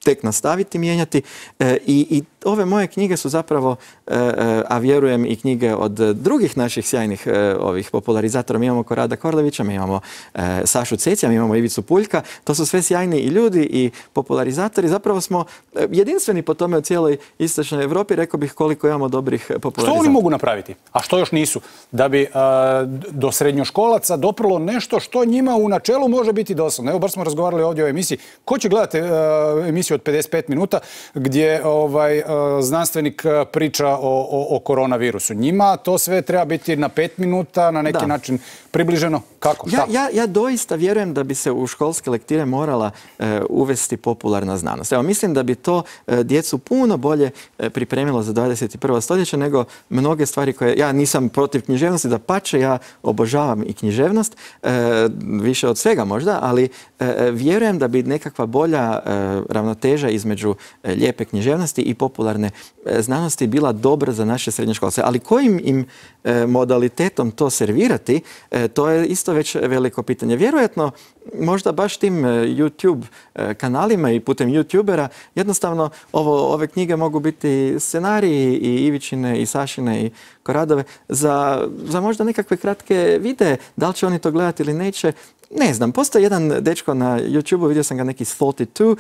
tek nastaviti mijenjati. E, i, i ove moje knjige su zapravo, e, a vjerujem i knjige od drugih naših sjajnih e, ovih popularizatora. Mi imamo Korada Korlevića, mi imamo e, Sašu Cecija, mi imamo Ivicu Puljka. To su sve sjajni i ljudi i popularizatori. Zapravo smo jedinstveni po tome u cijeloj istočnoj Europi. Rekao bih koliko imamo dobrih popularizatora. Što oni mogu napraviti? A što još nisu? Da bi a, do srednjoškolaca doprlo nešto što njima u načelu može biti dosadno. Evo, bar smo razgovarali ovdje o emisiji. Ko će gledati a, emisiju od pedeset pet minuta gdje ovaj, znanstvenik priča o, o, o koronavirusu? Njima to sve treba biti na pet minuta, na neki da. način približeno? Kako? Ja, ja, ja doista vjerujem da bi se u školske lektire morala e, uvesti popularna znanost. Evo, mislim da bi to e, djecu puno bolje e, pripremilo za dvadeset prvo stoljeće nego mnoge stvari koje... Ja nisam protiv književnosti, da pače, ja obožavam i književnost, e, više od svega možda, ali e, vjerujem da bi nekakva bolja e, ravnoteža između e, lijepe književnosti i popularne e, znanosti bila dobra za naše srednjoškolce. Ali kojim im e, modalitetom to servirati, e, to je isto već veliko pitanje. Vjerojatno, možda baš tim YouTube kanalima i putem YouTubera, jednostavno ovo, ove knjige mogu biti scenariji i Ivičine i Sašine i Koradove za, za možda nekakve kratke videe. Da li će oni to gledati ili neće, Ne znam, postoji jedan dečko na YouTubeu, vidio sam ga neki četrdeset dva,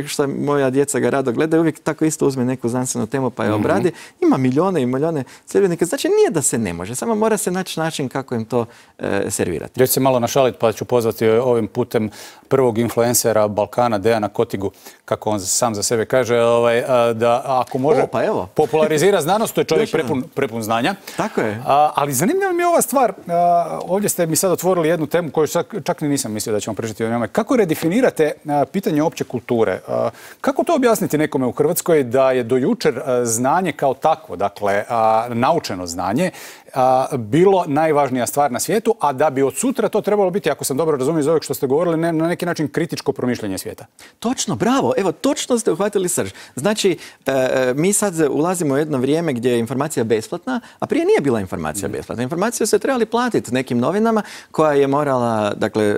što moja djeca ga rado gledaju, uvijek tako isto uzme neku znanstvenu temu pa je obradi. Ima milijone i milijone sljedbenika, znači nije da se ne može, samo mora se naći način kako im to e, servirati. Ja ću se malo našaliti pa ću pozvati ovim putem prvog influencera Balkana, Dejana Kotigu, kako on sam za sebe kaže, ovaj, da ako može o, pa evo. popularizira znanost, to je čovjek prepun, prepun znanja. Tako je. A, ali zanimljiva mi je ova stvar, a, ovdje ste mi sad otvorili jednu temu koju čak, čak ni nisam mislio da ćemo pričati o njome. Kako redefinirate a, pitanje opće kulture? A, kako to objasniti nekome u Hrvatskoj da je do jučer a, znanje kao takvo, dakle a, naučeno znanje, a, bilo najvažnija stvar na svijetu, a da bi od sutra to trebalo biti, ako sam dobro razumio iz ovog što ste govorili, ne, na neki način kritičko promišljanje svijeta? Točno, bravo. Evo, točno ste uhvatili srž. Znači, e, mi sad ulazimo u jedno vrijeme gdje je informacija besplatna, a prije nije bila informacija besplatna. Informaciju se trebali platiti nekim novinama koja je morala, dakle,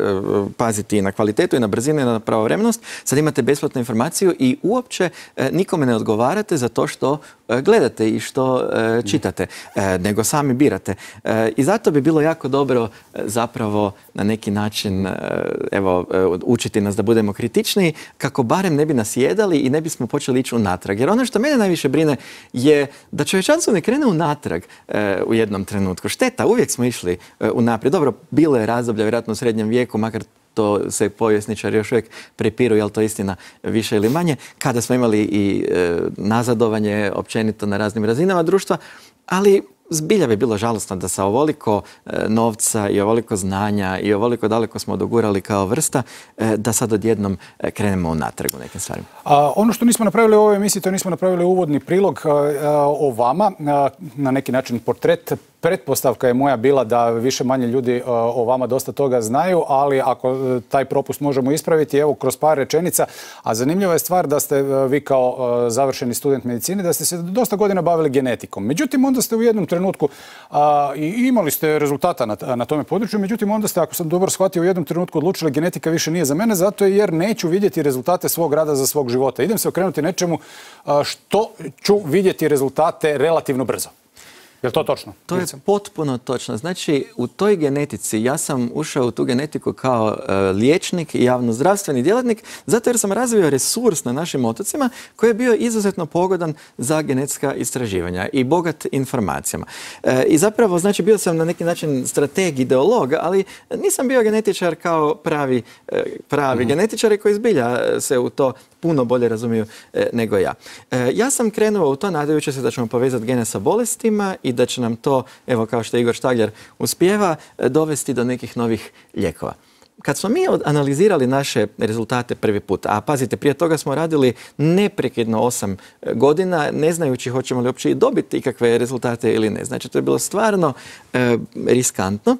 paziti na kvalitetu i na brzinu i na pravovremenost. Sad imate besplatnu informaciju i uopće e, nikome ne odgovarate za to što e, gledate i što e, čitate, e, nego sami birate. E, I zato bi bilo jako dobro e, zapravo na neki način e, evo, e, učiti nas da budemo kritičniji, kako barem ne bi nas jedali i ne bismo počeli ići unatrag. Jer ono što mene najviše brine je da čovječanstvo ne krene unatrag e, u jednom trenutku. Šteta, uvijek smo išli e, unaprijed. Dobro, bilo je razdoblja vjerojatno u srednjem vijeku, makar to se povjesničari još uvijek prepiru, je li to istina više ili manje, kada smo imali i e, nazadovanje općenito na raznim razinama društva, ali zbilja bi bilo žalosno da sa ovoliko e, novca i ovoliko znanja i ovoliko daleko smo dogurali kao vrsta, e, da sad odjednom e, krenemo unatrag u nekim stvarima. A, ono što nismo napravili u ovoj emisiji, to nismo napravili uvodni prilog a, a, o vama, a, na neki način portret. Pretpostavka je moja bila da više manje ljudi a, o vama dosta toga znaju, ali ako a, taj propust možemo ispraviti, evo kroz par rečenica. A zanimljiva je stvar da ste a, vi kao a, završeni student medicine, da ste se dosta godina bavili genetikom. Međutim, onda ste u jednom trenutku a, i imali ste rezultata na, na tome području, međutim onda ste, ako sam dobro shvatio, u jednom trenutku odlučili genetika više nije za mene, zato jer neću vidjeti rezultate svog rada za svog života. Idem se okrenuti nečemu a, što ću vidjeti rezultate relativno brzo. Je li to točno? To je potpuno točno. Znači, u toj genetici, ja sam ušao u tu genetiku kao uh, liječnik i javnozdravstveni djelatnik, zato jer sam razvio resurs na našim otocima koji je bio izuzetno pogodan za genetska istraživanja i bogat informacijama. Uh, I zapravo, znači, bio sam na neki način strateg, ideolog, ali nisam bio genetičar kao pravi, uh, pravi mm-hmm. genetičari koji zbilja se u to puno bolje razumiju e, nego ja. E, ja sam krenuo u to nadajući se da ćemo povezati gene sa bolestima i da će nam to, evo kao što Igor Štagljar uspijeva, e, dovesti do nekih novih lijekova. Kad smo mi analizirali naše rezultate prvi put, a pazite, prije toga smo radili neprekidno osam godina, ne znajući hoćemo li uopće i dobiti ikakve rezultate ili ne. Znači, to je bilo stvarno e, riskantno.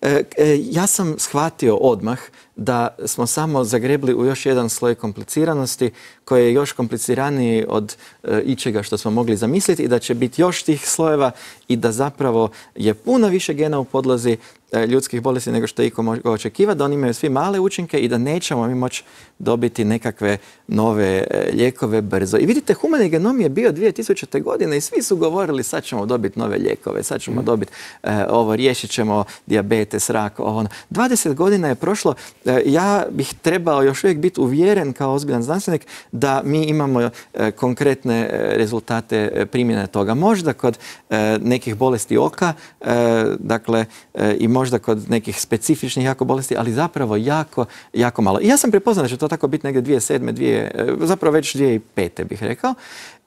E, e, ja sam shvatio odmah da smo samo zagrebli u još jedan sloj kompliciranosti koji je još kompliciraniji od e, ičega što smo mogli zamisliti i da će biti još tih slojeva i da zapravo je puno više gena u podlozi e, ljudskih bolesti nego što iko može očekivati, da oni imaju svi male učinke i da nećemo mi moći dobiti nekakve nove e, lijekove brzo. I vidite, humani genom je bio dvije tisućite. godine i svi su govorili sad ćemo dobiti nove lijekove, sad ćemo mm. dobiti e, ovo, riješit ćemo dijabetes, rak, ovo. dvadeset godina je prošlo. E, ja bih trebao još uvijek biti uvjeren kao ozbiljan znanstvenik da mi imamo e, konkretne e, rezultate e, primjene toga. Možda kod e, nekih bolesti oka, e, dakle, e, i možda kod nekih specifičnih jako bolesti, ali zapravo jako, jako malo. I ja sam prepoznao da će to tako biti negdje dvije tisuće sedme. Dvije, zapravo već dvije tisuće pete. bih rekao.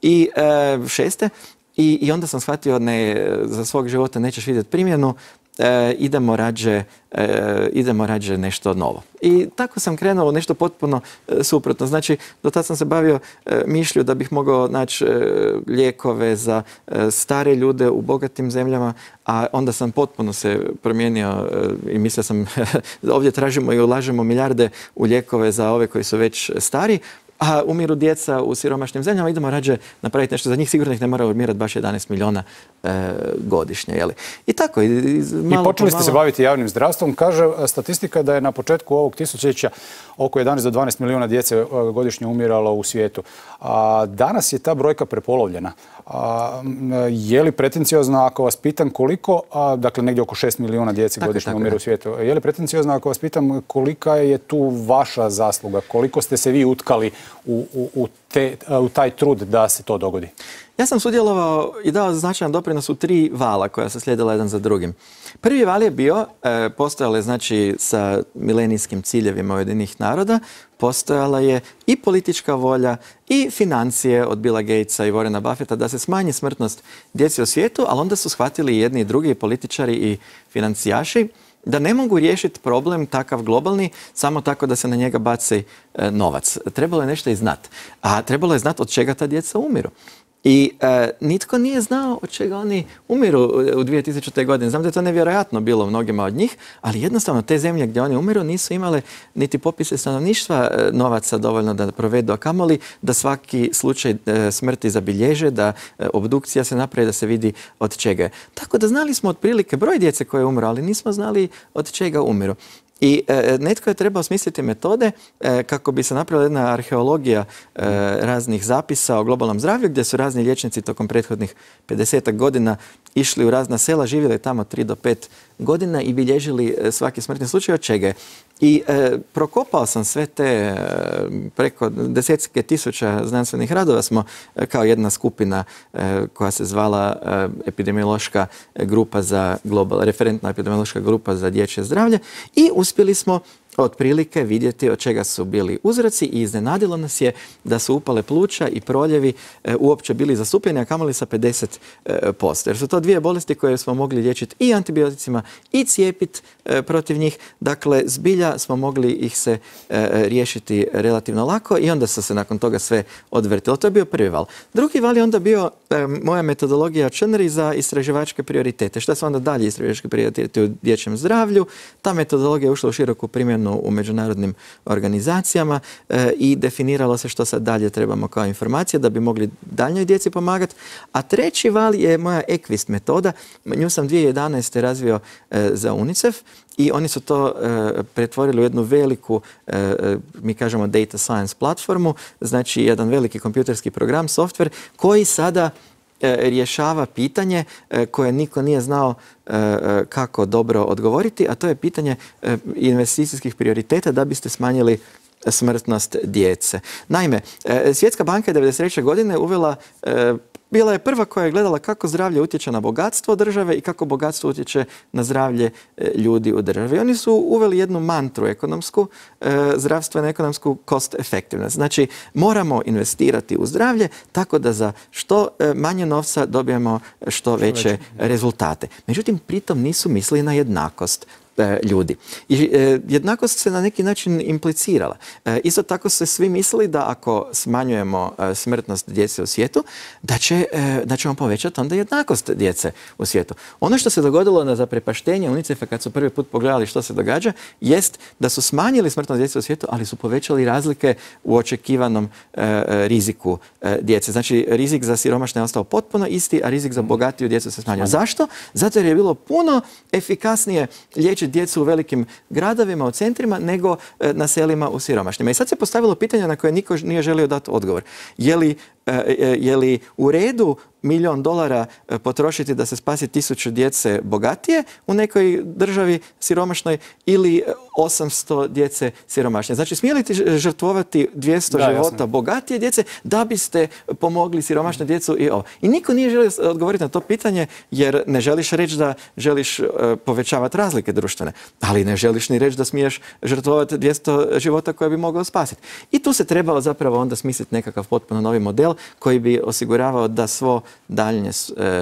I e, šeste. I, I onda sam shvatio ne, za svog života nećeš vidjeti primjenu, e, idemo, rađe, e, idemo rađe nešto novo. I tako sam krenuo u nešto potpuno e, suprotno. Znači, do tada sam se bavio e, mišlju da bih mogao naći e, lijekove za e, stare ljude u bogatim zemljama, a onda sam potpuno se promijenio e, i mislio sam ovdje tražimo i ulažemo milijarde u lijekove za ove koji su već stari. a umiru djeca u siromašnim zemljama, idemo rađe napraviti nešto za njih, sigurno ih ne mora umirati baš jedanaest milijuna e, godišnje. Jeli? I tako. I, i, malo I počeli ste malo... se baviti javnim zdravstvom. Kaže statistika da je na početku ovog tisućljeća oko jedanaest do dvanaest milijuna djece godišnje umiralo u svijetu. A danas je ta brojka prepolovljena. A, je li pretenciozno ako vas pitam koliko, a, dakle negdje oko šest milijuna djece tako, godišnje umire u svijetu, je li pretenciozno ako vas pitam kolika je tu vaša zasluga, koliko ste se vi utkali u, u, u, te, u taj trud da se to dogodi? Ja sam sudjelovao i dao značajan doprinos u tri vala koja se slijedila jedan za drugim. Prvi val je bio, e, postojala je znači sa milenijskim ciljevima Ujedinjenih naroda, postojala je i politička volja i financije od Billa Gatesa i Warrena Buffetta da se smanji smrtnost djece u svijetu, ali onda su shvatili jedni i drugi političari i financijaši da ne mogu riješiti problem takav globalni samo tako da se na njega baci e, novac. Trebalo je nešto i znati. A trebalo je znati od čega ta djeca umiru. I e, nitko nije znao od čega oni umiru u dvije tisućite. godine. Znam da je to nevjerojatno bilo mnogima od njih, ali jednostavno te zemlje gdje oni umiru nisu imale niti popise stanovništva e, novaca dovoljno da provedu, a kamoli da svaki slučaj e, smrti zabilježe, da e, obdukcija se napravi, da se vidi od čega je. Tako da znali smo otprilike broj djece koje umru, ali nismo znali od čega umiru. I e, netko je trebao smisliti metode e, kako bi se napravila jedna arheologija e, raznih zapisa o globalnom zdravlju, gdje su razni liječnici tokom prethodnih pedesetak godina išli u razna sela, živjeli tamo tri do pet godina i bilježili svaki smrtni slučaj od čega je. I e, prokopao sam sve te e, preko desetke tisuća znanstvenih radova smo e, kao jedna skupina e, koja se zvala e, epidemiološka grupa za global, referentna epidemiološka grupa za dječje zdravlje i uspjeli smo otprilike vidjeti od čega su bili uzroci i iznenadilo nas je da su upale pluća i proljevi e, uopće bili zastupljeni, a kamoli sa pedeset posto. Jer su to dvije bolesti koje smo mogli liječiti i antibioticima i cijepiti e, protiv njih. Dakle, zbilja smo mogli ih se e, riješiti relativno lako i onda su se nakon toga sve odvrtilo. To je bio prvi val. Drugi val je onda bio e, moja metodologija Čenri za istraživačke prioritete. Šta su onda dalje istraživačke prioritete u dječjem zdravlju? Ta metodologija je ušla u široku primjenu u međunarodnim organizacijama e, i definiralo se što sad dalje trebamo kao informacije da bi mogli daljnjoj djeci pomagati. A treći val je moja Equist metoda. Nju sam dvije tisuće jedanaeste. razvio e, za UNICEF i oni su to e, pretvorili u jednu veliku, e, mi kažemo data science platformu, znači jedan veliki kompjuterski program, softver koji sada rješava pitanje koje niko nije znao kako dobro odgovoriti, a to je pitanje investicijskih prioriteta da biste smanjili smrtnost djece. Naime, Svjetska banka je devedeset treće. godine uvela, bila je prva koja je gledala kako zdravlje utječe na bogatstvo države i kako bogatstvo utječe na zdravlje ljudi u državi. Oni su uveli jednu mantru ekonomsku, zdravstveno ekonomsku cost effectiveness. Znači, moramo investirati u zdravlje tako da za što manje novca dobijemo što veće rezultate. Međutim, pritom nisu mislili na jednakost ljudi. I e, jednakost se na neki način implicirala. E, isto tako se svi mislili da ako smanjujemo e, smrtnost djece u svijetu, da, će, e, da ćemo povećati onda jednakost djece u svijetu. Ono što se dogodilo na zaprepaštenje UNICEF-a kad su prvi put pogledali što se događa, jest da su smanjili smrtnost djece u svijetu, ali su povećali razlike u očekivanom e, riziku e, djece. Znači, rizik za siromašne je ostao potpuno isti, a rizik za bogatiju djecu se smanjio. Zašto? Zato jer je bilo puno efikasnije liječiti djecu u velikim gradovima, u centrima, nego e, na selima u siromašnjima. I sad se postavilo pitanje na koje niko nije želio dati odgovor. Je li, e, je li u redu milijon dolara potrošiti da se spasi tisuću djece bogatije u nekoj državi siromašnoj ili osamsto djece siromašnije? Znači, smijeli ti žrtvovati dvjesto da, života jasno. bogatije djece da biste pomogli siromašnoj djecu i ovo? I niko nije želio odgovoriti na to pitanje jer ne želiš reći da želiš uh, povećavati razlike društvene, ali ne želiš ni reći da smiješ žrtvovati dvjesto života koje bi mogao spasiti. I tu se trebalo zapravo onda smisliti nekakav potpuno novi model koji bi osiguravao da svo daljnje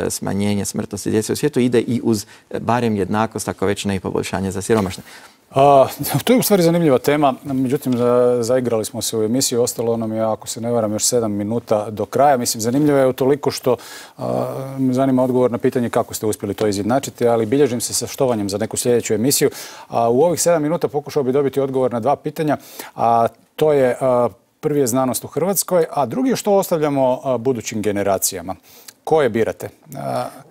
smanjenje smrtnosti djece u svijetu ide i uz barem jednakost, ako već ne i poboljšanje za siromašne. A, to je u stvari zanimljiva tema, međutim za, zaigrali smo se u emisiji, ostalo nam je, ako se ne varam, još sedam minuta do kraja. Mislim, zanimljivo je utoliko što a, me zanima odgovor na pitanje kako ste uspjeli to izjednačiti, ali bilježim se sa štovanjem za neku sljedeću emisiju. A, u ovih sedam minuta pokušao bi dobiti odgovor na dva pitanja, a to je a, Prvi je znanost u Hrvatskoj, a drugi je što ostavljamo budućim generacijama. Koje birate?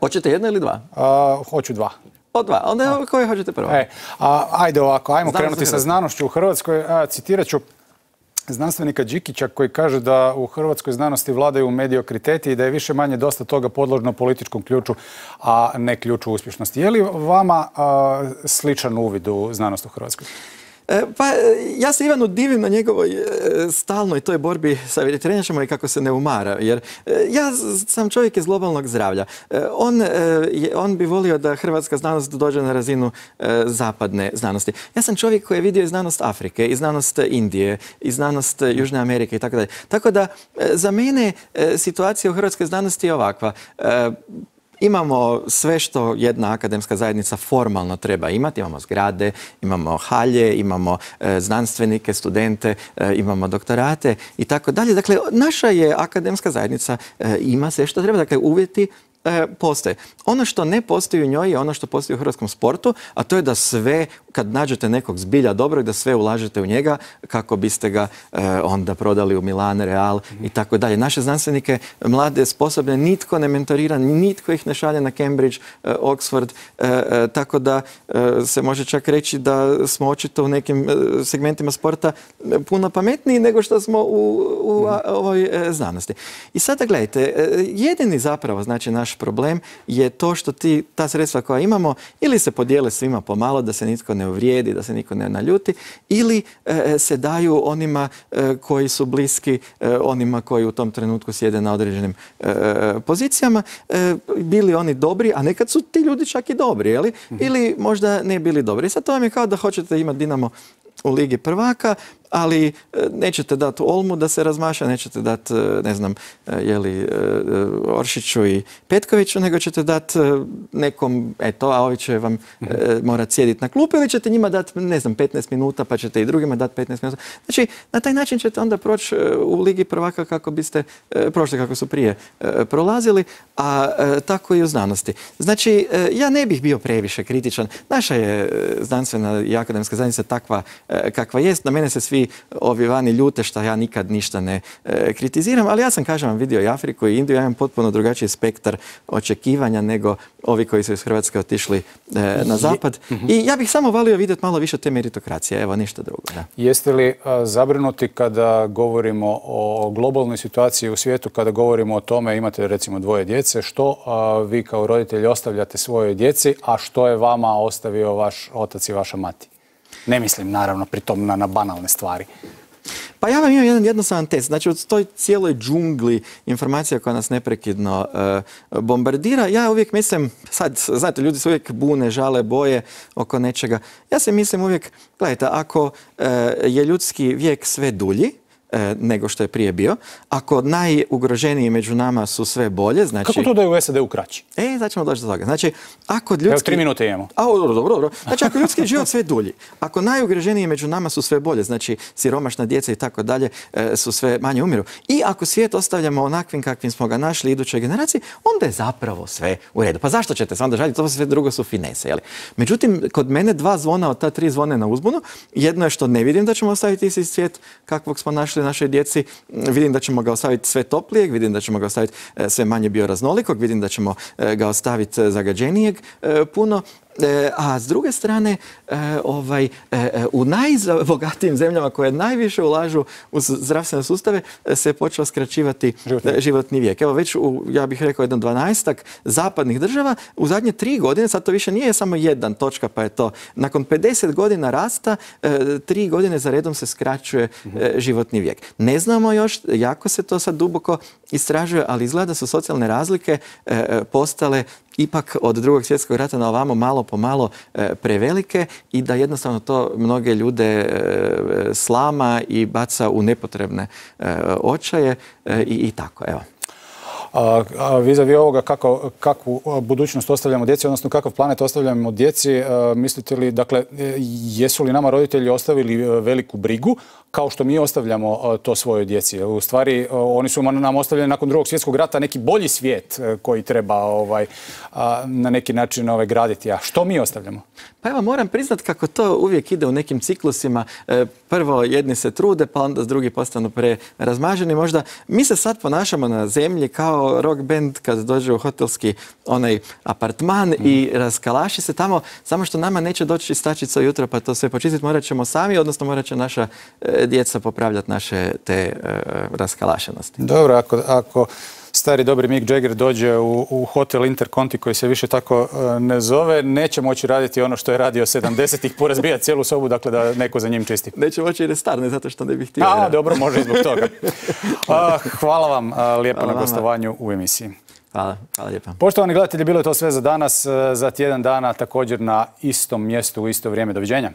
Hoćete jedno ili dva? A, hoću dva. O dva. Onda koje hoćete prvo? E, a, ajde ovako, ajmo Znanost krenuti sa znanošću u Hrvatskoj. A, citirat ću znanstvenika Đikića koji kaže da u hrvatskoj znanosti vladaju mediokriteti i da je više manje dosta toga podložno političkom ključu, a ne ključu uspješnosti. Je li vama a, sličan uvid u znanost u Hrvatskoj? Pa ja se Ivanu divim na njegovoj stalnoj toj borbi sa vegetarijančama i kako se ne umara. Jer ja sam čovjek iz globalnog zdravlja. On, on bi volio da hrvatska znanost dođe na razinu zapadne znanosti. Ja sam čovjek koji je vidio i znanost Afrike, i znanost Indije, i znanost Južne Amerike i tako dalje. Tako da za mene situacija u hrvatskoj znanosti je ovakva. Imamo sve što jedna akademska zajednica formalno treba imati. Imamo zgrade, imamo halje, imamo e, znanstvenike, studente, e, imamo doktorate i tako dalje. Dakle, naša je akademska zajednica, e, ima sve što treba. Dakle, uvjeti e, postoje. Ono što ne postoji u njoj je ono što postoji u hrvatskom sportu, a to je da sve, kad nađete nekog zbilja dobrog, da sve ulažete u njega kako biste ga e, onda prodali u Milan, Real mm-hmm. i tako dalje. Naše znanstvenike, mlade, sposobne, nitko ne mentorira, nitko ih ne šalje na Cambridge, e, Oxford, e, e, tako da e, se može čak reći da smo očito u nekim e, segmentima sporta puno pametniji nego što smo u, u a, ovoj e, znanosti. I sada gledajte, e, jedini zapravo, znači naš problem je to što ti, ta sredstva koja imamo ili se podijele svima pomalo da se nitko ne uvrijedi, da se nitko ne naljuti, ili e, se daju onima e, koji su bliski e, onima koji u tom trenutku sjede na određenim e, pozicijama, e, bili oni dobri, a nekad su ti ljudi čak i dobri, jeli? Mm-hmm. Ili možda ne bili dobri. I sad to vam je kao da hoćete imati Dinamo u Ligi prvaka, ali nećete dati Olmu da se razmaša, nećete dati, ne znam, jeli, Oršiću i Petkoviću, nego ćete dati nekom, eto, a ovi će vam mm-hmm. morati sjediti na klupi, ili ćete njima dati, ne znam, petnaest minuta, pa ćete i drugima dati petnaest minuta. Znači, na taj način ćete onda proći u Ligi prvaka kako biste prošli, kako su prije prolazili, a tako i u znanosti. Znači, ja ne bih bio previše kritičan. Naša je znanstvena i akademska zajednica takva kakva jest. Na mene se svi ovi vani ljute što ja nikad ništa ne e, kritiziram, ali ja sam, kažem vam, vidio i Afriku i Indiju, ja imam potpuno drugačiji spektar očekivanja nego ovi koji su iz Hrvatske otišli e, na zapad. Je, mm-hmm. I ja bih samo volio vidjeti malo više te meritokracije, evo, ništa drugo. Da. Jeste li a, zabrinuti kada govorimo o globalnoj situaciji u svijetu, kada govorimo o tome, imate recimo dvoje djece, što a, vi kao roditelji ostavljate svojoj djeci, a što je vama ostavio vaš otac i vaša mati? Ne mislim, naravno, pritom na, na banalne stvari. Pa ja vam imam jedan jednostavan test. Znači, u toj cijeloj džungli informacija koja nas neprekidno uh, bombardira, ja uvijek mislim, sad, znate, ljudi se uvijek bune, žale, boje oko nečega. Ja se mislim uvijek, gledajte, ako uh, je ljudski vijek sve dulji, nego što je prije bio. Ako najugroženiji među nama su sve bolje, znači... Kako to da je u S A D-u kraći? E, sad ćemo doći do toga. Znači, ako ljudski... Evo, tri minute imamo. A, dobro, dobro, dobro. Znači, ako ljudski život sve dulji, ako najugroženiji među nama su sve bolje, znači siromašna djeca i tako dalje su sve manje umiru. I ako svijet ostavljamo onakvim kakvim smo ga našli idućoj generaciji, onda je zapravo sve u redu. Pa zašto ćete se onda žaliti? To sve drugo su finese, jeli? Međutim, kod mene dva zvona od ta tri zvone na uzbunu. Jedno je što ne vidim da ćemo ostaviti isti svijet kakvog smo našli našoj djeci, vidim da ćemo ga ostaviti sve toplijeg, vidim da ćemo ga ostaviti sve manje bioraznolikog, vidim da ćemo ga ostaviti zagađenijeg puno. A s druge strane, ovaj, u najbogatijim zemljama koje najviše ulažu u zdravstvene sustave se je počeo skraćivati životni, životni vijek. Evo već u, ja bih rekao, jedan dvanaestak zapadnih država u zadnje tri godine, sad to više nije samo jedan točka, pa je to, nakon pedeset godina rasta, tri godine za redom se skraćuje mm-hmm. životni vijek. Ne znamo još, jako se to sad duboko istražuje, ali izgleda da su socijalne razlike postale ipak od drugog svjetskog rata na ovamo malo po malo e, prevelike i da jednostavno to mnoge ljude e, slama i baca u nepotrebne e, očaje e, i, i tako, evo. A, a vis-a-vis ovoga kako, kakvu budućnost ostavljamo djeci, odnosno kakav planet ostavljamo djeci, a, mislite li, dakle, jesu li nama roditelji ostavili veliku brigu kao što mi ostavljamo to svojoj djeci. U stvari, oni su nam ostavljeni nakon drugog svjetskog rata neki bolji svijet koji treba ovaj, na neki način ovaj, graditi. A što mi ostavljamo? Pa evo, moram priznat kako to uvijek ide u nekim ciklusima. Prvo jedni se trude, pa onda drugi postanu prerazmaženi. Možda mi se sad ponašamo na zemlji kao rock band kad dođe u hotelski onaj apartman mm. i raskalaši se tamo, samo što nama neće doći stačica ujutro pa to sve počistiti, morat ćemo sami, odnosno morat će naša djeca popravljati naše te uh, raskalašenosti. Dobro, ako, ako stari dobri Mick Jagger dođe u, u hotel Interconti koji se više tako uh, ne zove, neće moći raditi ono što je radio sedamdesetih, porazbijati cijelu sobu, dakle da neko za njim čisti. Neće moći jer je star, ne zato što ne bih htio. A, dobro, može i zbog toga. Uh, hvala vam uh, lijepo hvala na gostovanju u emisiji. Hvala, hvala lijepa. Poštovani gledatelji, bilo je to sve za danas. Za tjedan dana također na istom mjestu u isto vrijeme. Doviđenja.